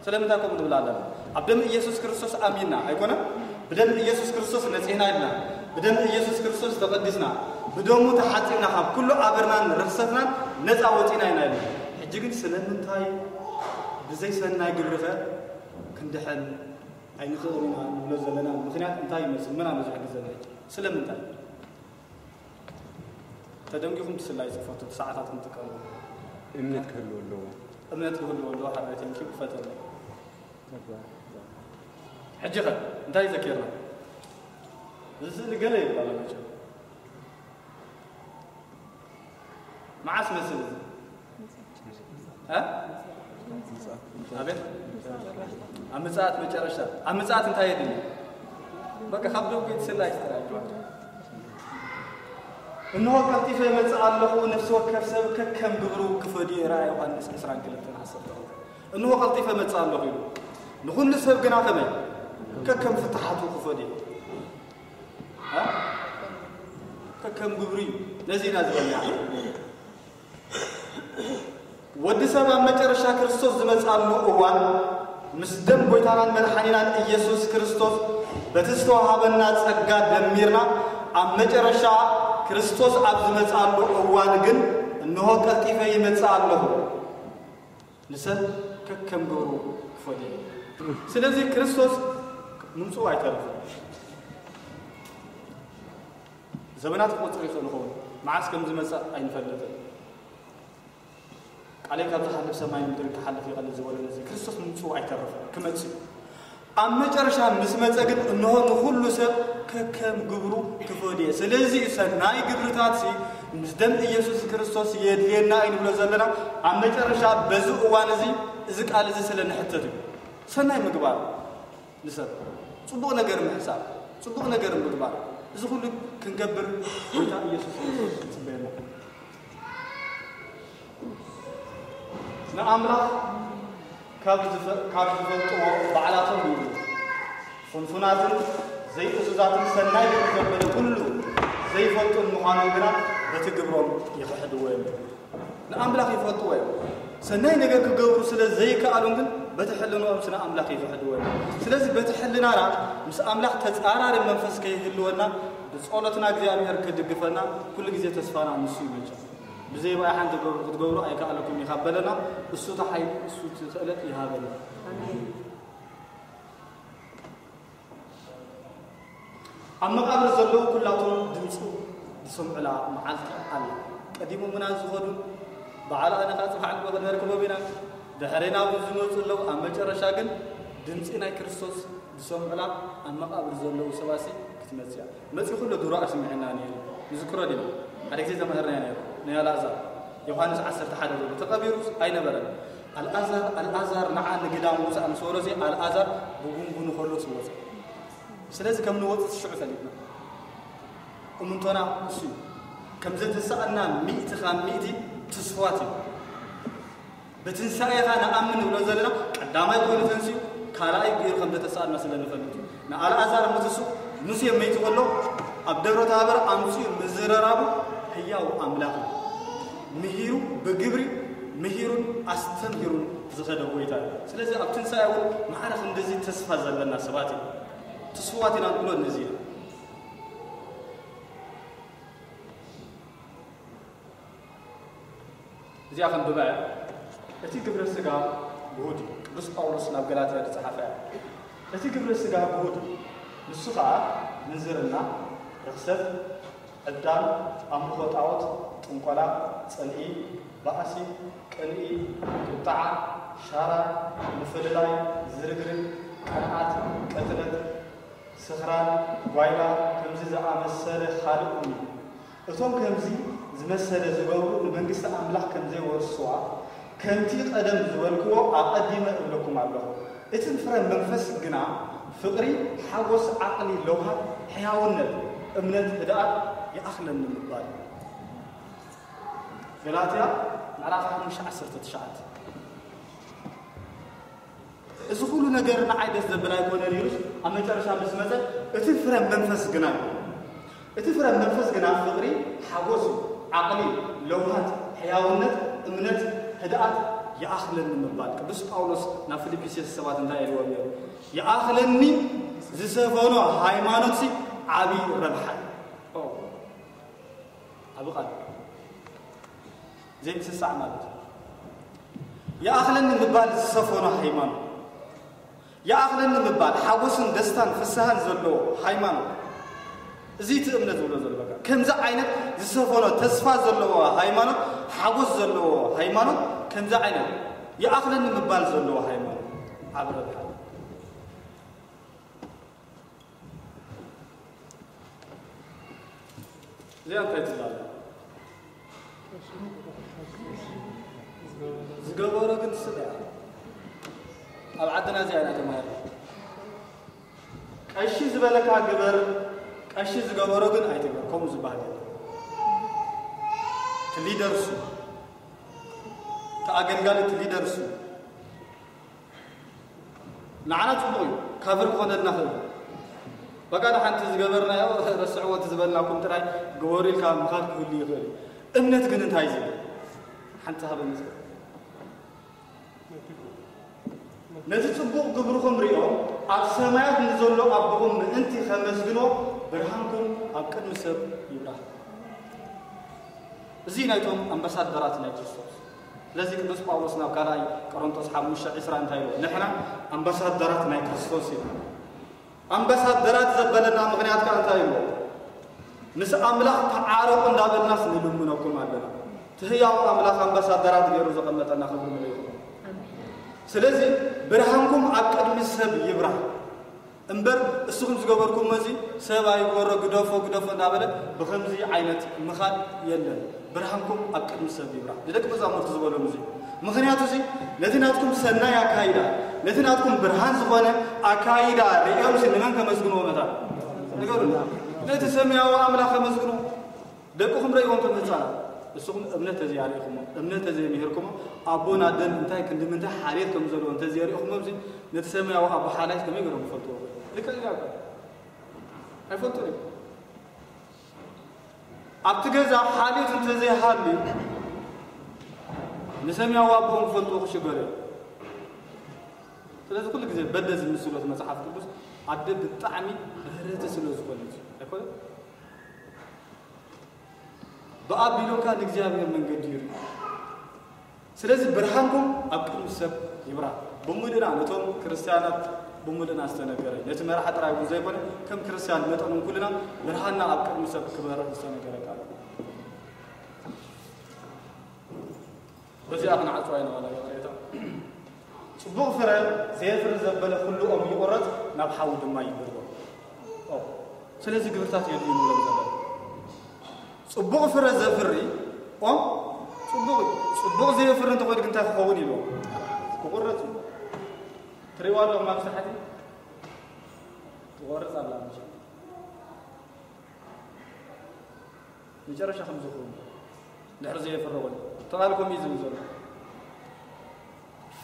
ስለምንታይ ከምኡ ንብል ኣለና? ኣብ ደም ኢየሱስ ክርስቶስ ኣሚንና ኣይኮነን? ብደም ኢየሱስ ክርስቶስ ነጺህና ኢልና፣ ብደም ኢየሱስ ክርስቶስ ተቐዲስና፣ ብደሙ ተሓጺብና፣ ካብ ኩሉ ኣበርናን ርኽሰትናን ነጻ ወጺና ኢና ኢልና። ሕጂ ግን ስለምንታይ ብዘይ ሰናይ ግብሪ ኸ ክንድሕን ኣይንኽእልን ኢና ንብሎ ዘለና ምኽንያት እንታይ ይመስል? መን ኣሎ ዝሕግዘና? ስለምንታይ? ተደንጊኹም ትስላይ ጽፈቱ ሰዓታት ክንጥቀሙ እምነት ክህልዎ ኣለዎ። እምነት ክህልዎ ኣለዎ። ሓደ ቴንኪ ክፈተሉ። ሕጂ ኸ እንታይ ዘኪርና? እዚ ስእሊ ገለ ይባላል መቸም። መዓስ መስል እዚ? እ? ኣቤት? ኣብ ምጽኣት መጨረሻ። ኣብ ምጽኣት እንታይ የድሊ? በቃ ካብ ደው ቤት ስላ ይስተራጅ። እንሆ ቀልጢፈ እመጽእ ኣለኹ፣ ነፍሲ ወከፍ ሰብ ከከም ግብሩ ክፈድዮ። ራእይ ዮሃንስ ዕስራን ክልተን ዓሰርተ ክልተ። እንሆ ቀልጢፈ እመጽእ ኣለኹ ኢሉ። ንኹሉ ሰብ ግና ከመይ? ከከም ፍትሓቱ ክፈድዮ። እ? ከከም ግብሩ እዩ። ነዚ ኢና ዝበልና። ወዲ ሰብ ኣብ መጨረሻ ክርስቶስ ዝመጽኣሉ እዋን ምስ ደም ጎይታናን መድሓኒናን ኢየሱስ ክርስቶስ በቲ ዝተዋሃበና ጸጋ ደሚርና ኣብ መጨረሻ ክርስቶስ ኣብ ዝመጽኣሉ እዋን ግን እንሆ ቀልጢፈ ይመጽእ ኣለኹ። ንሰብ ከከም ግብሩ ክፈድዮ። ስለዚ ክርስቶስ ምምጽኡ ኣይተርፍን። ዘመናት ክቆጽር ይኽእል ይኸውን። መዓስ ከም ዝመጽእ ኣይንፈልጥን። ቃለይ ካብ ዝሓልፍ ሰማይ ምድሪ ክሓልፍ ይቐል ዝበሎ ነዚ ክርስቶስ ምምጽኡ ኣይተርፍን። ክመጽእ እዩ። ኣብ መጨረሻ ምስ መጸ ግን እንሆ ንኹሉ ሰብ ከከም ግብሩ ክፈድዮ። ስለዚ እዩ ሰናይ ግብርታትሲ ምስ ደም ኢየሱስ ክርስቶስ የድልየና እዩ ንብሎ ዘለና። ኣብ መጨረሻ በዚ እዋን እዚ፣ እዚ ቃል እዚ ስለ ንሕተት እዩ። ሰናይ ምግባር ንሰብ፣ ጽቡቕ ነገር ምሕሳብ፣ ጽቡቕ ነገር ምግባር፣ እዚ ኩሉ ክንገብር ጎይታ ኢየሱስ ክርስቶስ ይጽበየና። ንኣምላኽ ካብ ዝፈ-፣ ካብ ዝፈልጥዎ ባዕላቶም ይብሉ። ፍንፉናትን ዘይእዙዛትን ሰናይ ግብሪ ዘበለ ኩሉ ዘይፈልጡን ምዃኖም ግና በቲ ግብሮም ይኽሕድዎ እዮም። ንኣምላኽ ይፈልጥዎ እዮም። ሰናይ ነገር ክገብሩ ስለ ዘይከኣሉን ግን በቲ ሕልንኦም ስነ ኣምላኽ ይኽሕድዎ እዮም። ስለዚ በቲ ሕልናና ምስ ኣምላኽ ተጻራሪ መንፈስ ከይህልወና ብጸሎትና እግዚኣብሔር ክድግፈና ኩሉ ግዜ ተስፋና ንሱ ይመልጨ። ብዘይ ብኣይ ሓንቲ ገብሩ ክትገብሩ ኣይከኣለኩም እዩ ካብ በለና፣ እሱ እቲ ሓይሊ፣ እሱ እቲ ክእለት ይሃበና። ኣሜን። ኣብ መቓብር ዘለዉ ኩላቶም ድምፁ ዝሰምዑላ መዓልቲ ኣላ። ቀዲሞምና ዝኸዱ በዓል ኣነ ኸዓ ጽባሕ ንግሆ ክንረክቦም ኢና። ድሕሬና እውን ዝመፁ ኣለዉ። ኣብ መጨረሻ ግን ድምፂ ናይ ክርስቶስ ዝሰምዑላ ኣብ መቓብር ዘለዉ ሰባሲ ክትመፅእ እያ። መፂኡ ኩሎ ድሮ ኣስሚዕና ነይሩ። ንዝክሮ ዲና? ሓደ ግዜ ተምህርና ነይሩ። ናይ ኣልኣዛር ዮሃንስ ዓሰርተ ሓደ ዘሎ ተቐቢሩ ኣይነበረን። ኣልኣዛር ኣልኣዛር ንዓ ንግዳም ውፃእ ምስ በሎ እዚ ኣልኣዛር ብጉንጉኑ ከሎ ዝወፀ። ስለዚ ከም ንወፅእ ሽዑ ፈሊጥና እምንቶና እሱ እዩ። ከም ዘተሳእና ሚእቲ ካብ ሚእቲ ትስፋት እዩ። ብትንሳኤኻ ንኣምን ንብሎ ዘለና ቀዳማይ ኮይኑ ተንስኡ ካልኣይ ገይሩ ከም ዘተሳእና ስለ ንፈልጥ እዩ። ንኣልኣዛር ምትሱ ሙሴ መይቱ ከሎ ኣብ ደብረ ታቦር ኣምፅኡ ምዝረራቡ ህያው ኣምላኽ እዩ። ምሂሩ ብግብሪ ምሂሩን ኣስተምሂሩን ዝኸደ ጎይታ እዩ። ስለዚ ኣብ ትንሳኤ እውን ማዕረ ክንድዚ ተስፋ ዘለና ሰባት እዩ። ትስዋት ኢና ንብሎ ነዚ ኢና። እዚኣ ከንብባ እያ። እቲ ግብረ ስጋ ግሁድ እዩ። ቅዱስ ጳውሎስ ናብ ገላትያ ዝጸሓፈ እያ። እቲ ግብረ ስጋ ግሁድ እዩ። ንሱ ኸኣ ምንዝርና፣ ርኽሰት፣ ዕብዳን፣ ኣምልኾ ጣዖት፣ ጥንቆላ፣ ጽልኢ፣ ባእሲ፣ ቅንኢ፣ ቁጥዓ፣ ሻራ፣ ምፍልላይ፣ ዝርግርግ፣ ቅንኣት፣ ቅትለት፣ ስኽራን፣ ጓይላ፣ ከምዚ ዝኣመሰለ ካልእ እውን እዩ። እቶም ከምዚ ዝመሰለ ዝገብሩ ንመንግስቲ ኣምላኽ ከም ዘይወርስዋ ከምቲ ቀደም ዝበልክዎ ኣቐዲመ እብለኩም ኣለኹ። እቲ ፍረ መንፈስ ግና ፍቕሪ፣ ሓጎስ፣ ዓቕሊ፣ ለውሃት፣ ሕያውነት፣ እምነት፣ ህድኣት ይኣኽለኒ ምባል። ገላትያ ምዕራፍ ሓሙሽተ ዓሰርተ ትሽዓተ። እዚ ኩሉ ነገር ንዓይ ደስ ዘብል ኣይኮነን ኢሉስ ኣብ መጨረሻ ምስ መጸ እቲ ፍረ መንፈስ ግና እዩ። እቲ ፍረ መንፈስ ግና ፍቕሪ፣ ሓጎስ፣ ዓቕሊ፣ ለውሃት፣ ሕያውነት፣ እምነት፣ ህድኣት ይኣኽለኒ ምባል። ቅዱስ ጳውሎስ ናብ ፊልጵስዩስ ሰባት እንታይ ኢልዎም ነይሩ? ይኣኽለኒ ዝሰፈኖ ሃይማኖትሲ ዓቢ ረብሓ እዩ። ኦ፣ ዓቢ ቃል። ዘይምስሳዕ ማለት እዩ። ይኣኽለኒ ምባል ዝሰፈኖ ሃይማኖት። ይኣኽለኒ ምባል ሓጎስን ደስታን ፍስሃን ዘለዎ ሃይማኖት። እዚ እቲ እምነት ዝብሎ ዘሎ በቃ። ከምዚ ዓይነት ዝሰፈኖ ተስፋ ዘለዎ ሃይማኖት፣ ሓጎስ ዘለዎ ሃይማኖት፣ ከምዚ ዓይነት ይኣኽለኒ ምባል ዘለዎ ሃይማኖት። ዓቢ ረብሓ። እዚኣ እንታይ ትብል ኣላ? ዝገበሮ ግን ትስለ እያ። ኣብ ዓድና እዚኣ ኢና ተማሂርና። ቀሺ ዝበለካ ግበር፣ ቀሺ ዝገበሮ ግን ኣይትግበር። ከምኡ ዝበሃል የለን። እቲ ሊደር እሱ፣ እቲ ኣገልጋሊ እቲ ሊደር እሱ። ንዓና ጽቡቕ እዩ፣ ካቨር ክኾነልና ክእል። በቃ ንሓንቲ ዝገበርናዮ ረስዕዎ እቲ ዝበልናኩም ጥራይ ግበሩ ኢልካ ምኻድ ክህሉ ይኽእል እዩ። እምነት ግን እንታይ እዩ ዝብል? ሓንቲ ሃበ መስቀል። ነቲ ጽቡቕ ግብርኹም ሪኦም ኣብ ሰማያት ንዘሎ ኣቦኹም ምእንቲ ከመስግኖ ብርሃንኩም ኣብ ቅድሚ ሰብ ይብራህ። እዚ ናይቶም ኣምባሳደራት ናይ ክርስቶስ። ስለዚ ቅዱስ ጳውሎስ ናብ ካልኣይ ቆሮንቶስ ሓሙሽተ ዕስራ እንታይ ኢሉ? ንሕና ኣምባሳደራት ናይ ክርስቶስ ኢና። ኣምባሳደራት ዘበለና ምኽንያት ከኣ እንታይ ኢሉ? ምስ ኣምላኽ ተዓረቑ እንዳበልናስ ንልምነኩም ኣለና። እቲ ህያው ኣምላኽ ኣምባሳደራት ገይሩ ዘቐመጠና ክብሪ ንሪኢኹም። ስለዚ ብርሃንኩም ኣብ ቅድሚ ሰብ ይብራህ። እምበር እስኹም ዝገበርኩሞ እዚ ሰብ ኣይግበሮ፣ ግደፎ፣ ግደፎ እንዳበለ ብኸምዚ ዓይነት ምኻድ የለን። ብርሃንኩም ኣብ ቅድሚ ሰብ ይብራህ። ንደቂ መዛሙርቲ ዝበሎም እዚ። ምኽንያቱ እዚ ነቲ ናትኩም ሰናይ ኣካይዳ፣ ነቲ ናትኩም ብርሃን ዝኾነ ኣካይዳ ርእዮምሲ ንመን ከመስግንዎ መታ? ንገሩኒ። ነቲ ሰማያዊ ኣምላኽ ከመስግንዎ። ደቅኹም ረእይዎም ከም ህፃናት። እስኹም እምነት ተዘይኣርእኹሞ፣ እምነት ተዘይምሂርኩሞ፣ ኣቦን ኣደን እንታይ ክንዲ ምንታይ ሓልዮት ከም ዘለዎ እንተዘይኣርእኹሞ፣ እዚ ነቲ ሰማያዊ ኣቦ ሓላይት ከመይ ገይሮም ክፈልጥዎ? ልክዕ እዩ። ኣይፈልጡን እዮም። ኣብቲ ገዛ ሓልዮት እንተዘይሃልዩ፣ ንሰማያዊ ኣቦኦም ክፈልጥዎ ክሽገሩ እዮም። ስለዚ ኩሉ ግዜ በደ ዝምስሎት መጽሓፍ ቅዱስ ኣደ ብጣዕሚ ርህርህቲ ስለ ዝኾነት እዩ። ኣይኮነን? ብኣቢሉካ ንእግዚኣብሔር መንገዲ ይርኢ። ስለዚ ብርሃንኩም ኣብ ቅድሚ ሰብ ይብራህ። ብምሉእና ነቶም ክርስትያናት ብምሉእና ዝተነገረ፣ ነቲ መራሒ ጥራይ እውን ዘይኮነ፣ ከም ክርስትያን መጠን እውን ኩልና ብርሃንና ኣብ ቅድሚ ሰብ ክበርህ ዝተነገረ ቃል እዩ። በዚኣ ክንዓጽዋ ኢና ዋላ ይቕሬታ። ጽቡቕ ፍረ ዘየፍሪ ዘበለ ኩሉ ኦም ይቑረጽ፣ ናብ ሓዊ ድማ ይድርቦ። ኦ፣ ስለዚ ግብርታት የድልዩ ንብሎም ዘለና። ጽቡቕ ፍረ ዘፍሪ ኦም ጽቡቕ እዩ። ጽቡቕ ዘየፍሪ እንተኾይኑ ግን እንታይ ክኸውን ኢልዎ? ክቑረጽ እዩ። ትሪእዋ ኣለኹም ኣብዚ ታሕቲ ትቖርጽ ኣላ። መቸም መጨረሻ ከም ዝኸውን ድሕሪ ዘየፍሪ ኮይኑ ተቓልኩም እዩ ዝብል ዘሎ።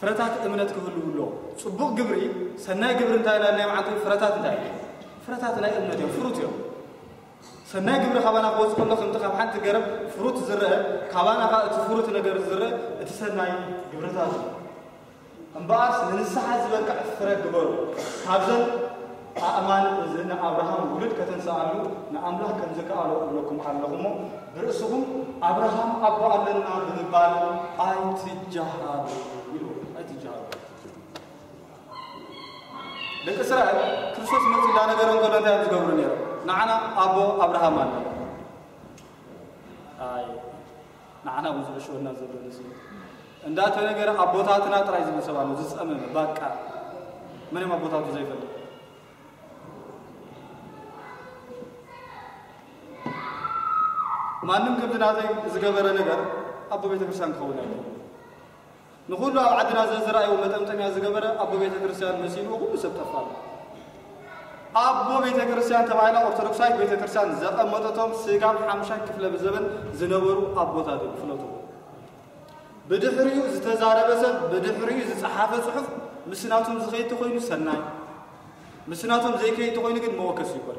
ፍረታት እምነት ክህልው ኣለዎ። ጽቡቕ ግብሪ፣ ሰናይ ግብሪ እንታይ ኢልና ናይ መዓልቱ ፍረታት እንታይ እዩ? ፍረታት ናይ እምነት እዮም፣ ፍሩት እዮም። ሰናይ ግብሪ ካባና ክወጽእ ከሎ ከምቲ ካብ ሓንቲ ገረብ ፍሩት ዝረአ፣ ካባና ኸኣ እቲ ፍሩት ነገር ዝረአ እቲ ሰናይ ግብርታት እዩ። እምበኣርስ ንንስሓ ዝበቅዕ ፍረ ግበሩ። ካብዘን ኣእማን እዚ ንኣብርሃም ውሉድ ከተንስኣሉ ንኣምላኽ ከም ዝከኣሎ እብለኩም ኣለኹ እሞ፣ ብርእስኹም ኣብርሃም ኣቦ ኣለና ብምባል ኣይትጀሃሩ ኢሉ። ኣይትጀሃሩ። ደቂ እስራኤል ክርስቶስ መጺኡ እንዳነገሮም ከሎ እንታይ እዮም ዝገብሩ ነይሮም? ንዓና ኣቦ ኣብርሃም ኣለና። ኣይ፣ ንዓና እውን ዝዕሽወና ዘሎ ንሱ እዩ። እንዳተነገረ ኣቦታትና ጥራይ ዝብል ሰብ ኣሎ፣ ዝጸመመ፣ ባቃ። መን እዮም ኣቦታቱ ዘይፈልጥ? ማንም ከምዚ ናተይ ዝገበረ ነገር ኣቦ ቤተክርስትያን ክኸውን ኣይክእልን። ንኹሉ ኣብ ዓድና ዘዝረኣይዎ መጠምጠምያ ዝገበረ ኣቦ ቤተክርስትያን መሲልዎ ኩሉ ሰብ ጠፋሉ። ኣቦ ቤተክርስትያን ተባሂላ ኦርቶዶክሳዊት ቤተክርስትያን ዘቐመጠቶም ስጋብ ሓምሻይ ክፍለ ዘበን ዝነበሩ ኣቦታት እዮም፣ ፍለጡ። ብድሕሪኡ ዝተዛረበ ሰብ፣ ብድሕሪኡ ዝጸሓፈ ጽሑፍ ምስ ናቶም ዝኸይድ ተኾይኑ ሰናይ፣ ምስ ናቶም ዘይከይድ ተኾይኑ ግን መወከሲ ይኮን።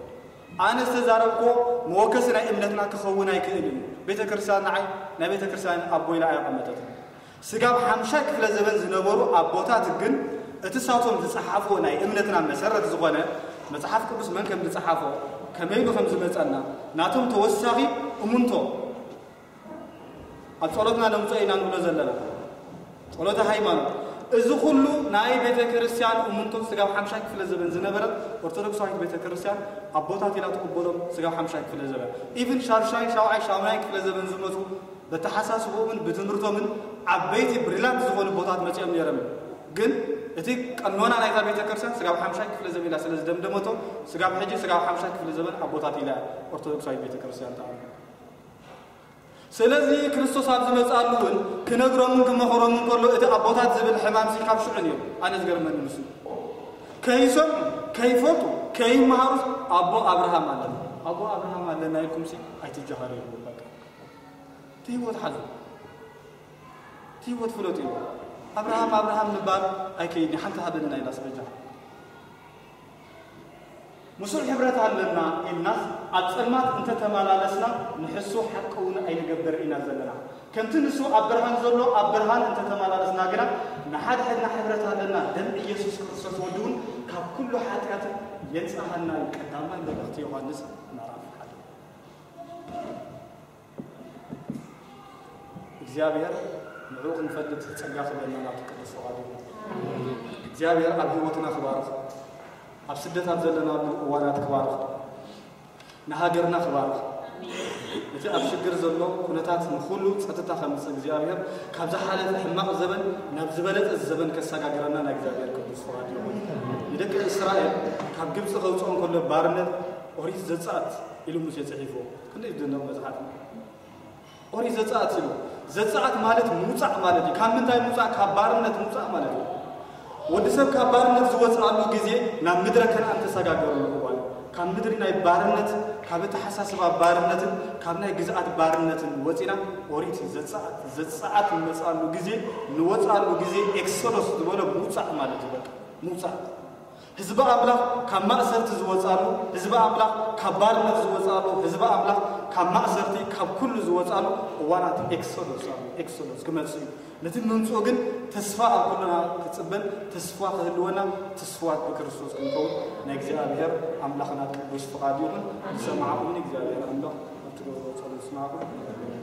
ኣነ ዝተዛረብክዎ መወከሲ ናይ እምነትና ክኸውን ኣይክእልን እዩ። ቤተክርስትያን ንዓይ ናይ ቤተክርስትያን ኣቦ ኢላ ኣየቐመጠትን። ስጋብ ሓምሻይ ክፍለ ዘበን ዝነበሩ ኣቦታት ግን እቲ ሳቶም ዝጸሓፍዎ ናይ እምነትና መሰረት ዝኾነ መጽሓፍ ቅዱስ መን ከም ዝጸሓፎ፣ ከመይ ኢሉ ከም ዝመጸና፣ ናቶም ተወሳኺ እሙንቶ ኣብ ጸሎትና ነምጽኦ ኢና ንብሎ ዘለና። ጸሎተ ሃይማኖት። እዚ ኩሉ ናይ ቤተ ክርስቲያን እሙንቶ ስጋብ ሓምሻይ ክፍለ ዘበን ዝነበረት ኦርቶዶክሳዊት ቤተ ክርስቲያን ኣቦታት ኢላ ትቕበሎም ስጋብ ሓምሻይ ክፍለ ዘበን። ኢቭን ሻድሻይ፣ ሻውዓይ፣ ሻሙናይ ክፍለ ዘበን ዝመጹ በተሓሳስቦምን ብትምህርቶምን ዓበይቲ ብሪላንት ዝኾኑ ቦታት መጺኦም ነይሮም እዮም። ግን እቲ ቀኖና ናይታ ቤተ ክርስቲያን ስጋብ ሓምሻይ ክፍለ ዘበን ኢላ ስለ ዝደምደመቶ ስጋብ ሕጂ ስጋብ ሓምሻይ ክፍለ ዘበን ኣቦታት ኢላ ኦርቶዶክሳዊት ቤተ ክርስቲያን ተኣምኖ። ስለዚ ክርስቶስ ኣብ ዝመጽኣሉ እውን ክነግሮምን ክመኽሮምን ከሎ እቲ ኣቦታት ዝብል ሕማምሲ ካብ ሽዑ ነይሩ። ኣነ ዝገርመኒ ንሱ ከይሰምዑ ከይፈልጡ ከይመሃሩስ ኣቦ ኣብርሃም ኣለና ኣቦ ኣብርሃም ኣለና ኢልኩምሲ ኣይትጀሃሩ ይብሉ። በቃ እቲ ህይወት ሓዙ እቲ ህይወት ፍለጡ እዩ። ኣብርሃም ኣብርሃም ምባል ኣይከይድን ሓንቲ ሃበንና ኢላ ስበጃ ምስኡ ሕብረት ኣለና ኢልናስ ኣብ ጸልማት እንተተመላለስና ንሕሱ ሓቂ እውን ኣይንገብር ኢና ዘለና። ከምቲ ንሱ ኣብ ብርሃን ዘሎ ኣብ ብርሃን እንተተመላለስና ግና ንሓድሕድና ሕብረት ኣለና፣ ደም ኢየሱስ ክርስቶስ ወዲ እውን ካብ ኩሉ ሓጢኣትን የንጽሃና እዩ። ቀዳማይ መልእኽቲ ዮሃንስ ምዕራፍ ሓደ። እግዚኣብሔር ንዕኡ ክንፈልጥ ጸጋ ክህበና ናቱ ቅዱስ ፈቓዱ ይኹን። እግዚኣብሔር ኣብ ህይወትና ክባርኽ፣ ኣብ ስደት ኣብ ዘለናሉ እዋናት ክባርኽ፣ ንሃገርና ክባርኽ፣ እቲ ኣብ ሽግር ዘሎ ኩነታት ንኹሉ ጸጥታ ከምጽእ እግዚኣብሔር ካብ ዝሓለፈ ሕማቕ ዘበን ናብ ዝበለጸ ዘበን ከሰጋግረና ናይ እግዚኣብሔር ቅዱስ ፈቓዱ ይኹን። ንደቂ እስራኤል ካብ ግብጺ ከውጽኦም ከሎ ባርነት ኦሪት ዘጸኣት ኢሉ ሙሴ ጽሒፍዎ። ክንደይ ዝድነቕ መጽሓፍ እዩ። ኦሪት ዘጸኣት ኢሉ ዘጸኣት ማለት ምውጻእ ማለት እዩ። ካብ ምንታይ ምውጻእ? ካብ ባርነት ምውጻእ ማለት እዩ። ወዲ ሰብ ካብ ባርነት ዝወጽኣሉ ግዜ ናብ ምድረ ከነኣን ተሰጋገረሉ እዋን እዩ። ካብ ምድሪ ናይ ባርነት ካብ ኣተሓሳስባ ባርነትን ካብ ናይ ግዝኣት ባርነትን ወጺና ኦሪት ዘጸኣት ዘጸኣት ንመጽኣሉ ግዜ ንወጽኣሉ ግዜ ኤክሶዶስ ዝበሎ ምውጻእ ማለት እዩ። በቃ ምውጻእ ህዝቢ ኣምላኽ ካብ ማእሰርቲ ዝወጻሉ፣ ህዝቢ ኣምላኽ ካብ ባርነት ዝወጻሉ፣ ህዝቢ ኣምላኽ ካብ ማእሰርቲ ካብ ኩሉ ዝወጻሉ እዋናት ኤክሶዶስ ኣሉ። ኤክሶዶስ ክመጽእ እዩ። ነቲ ምምጽኡ ግን ተስፋ ኣብ ኩልና ክጽበን ተስፋ ክህልወና ትስፉዋት ብክርስቶስ ክንከውን ናይ እግዚኣብሔር ኣምላኽና ቅዱስ ፍቓድ ይኹን። ዝሰማዕኹምኒ እግዚኣብሔር ኣምላኽ ኣብ ትገብርዎ ጸሎት ይስማዕኩም።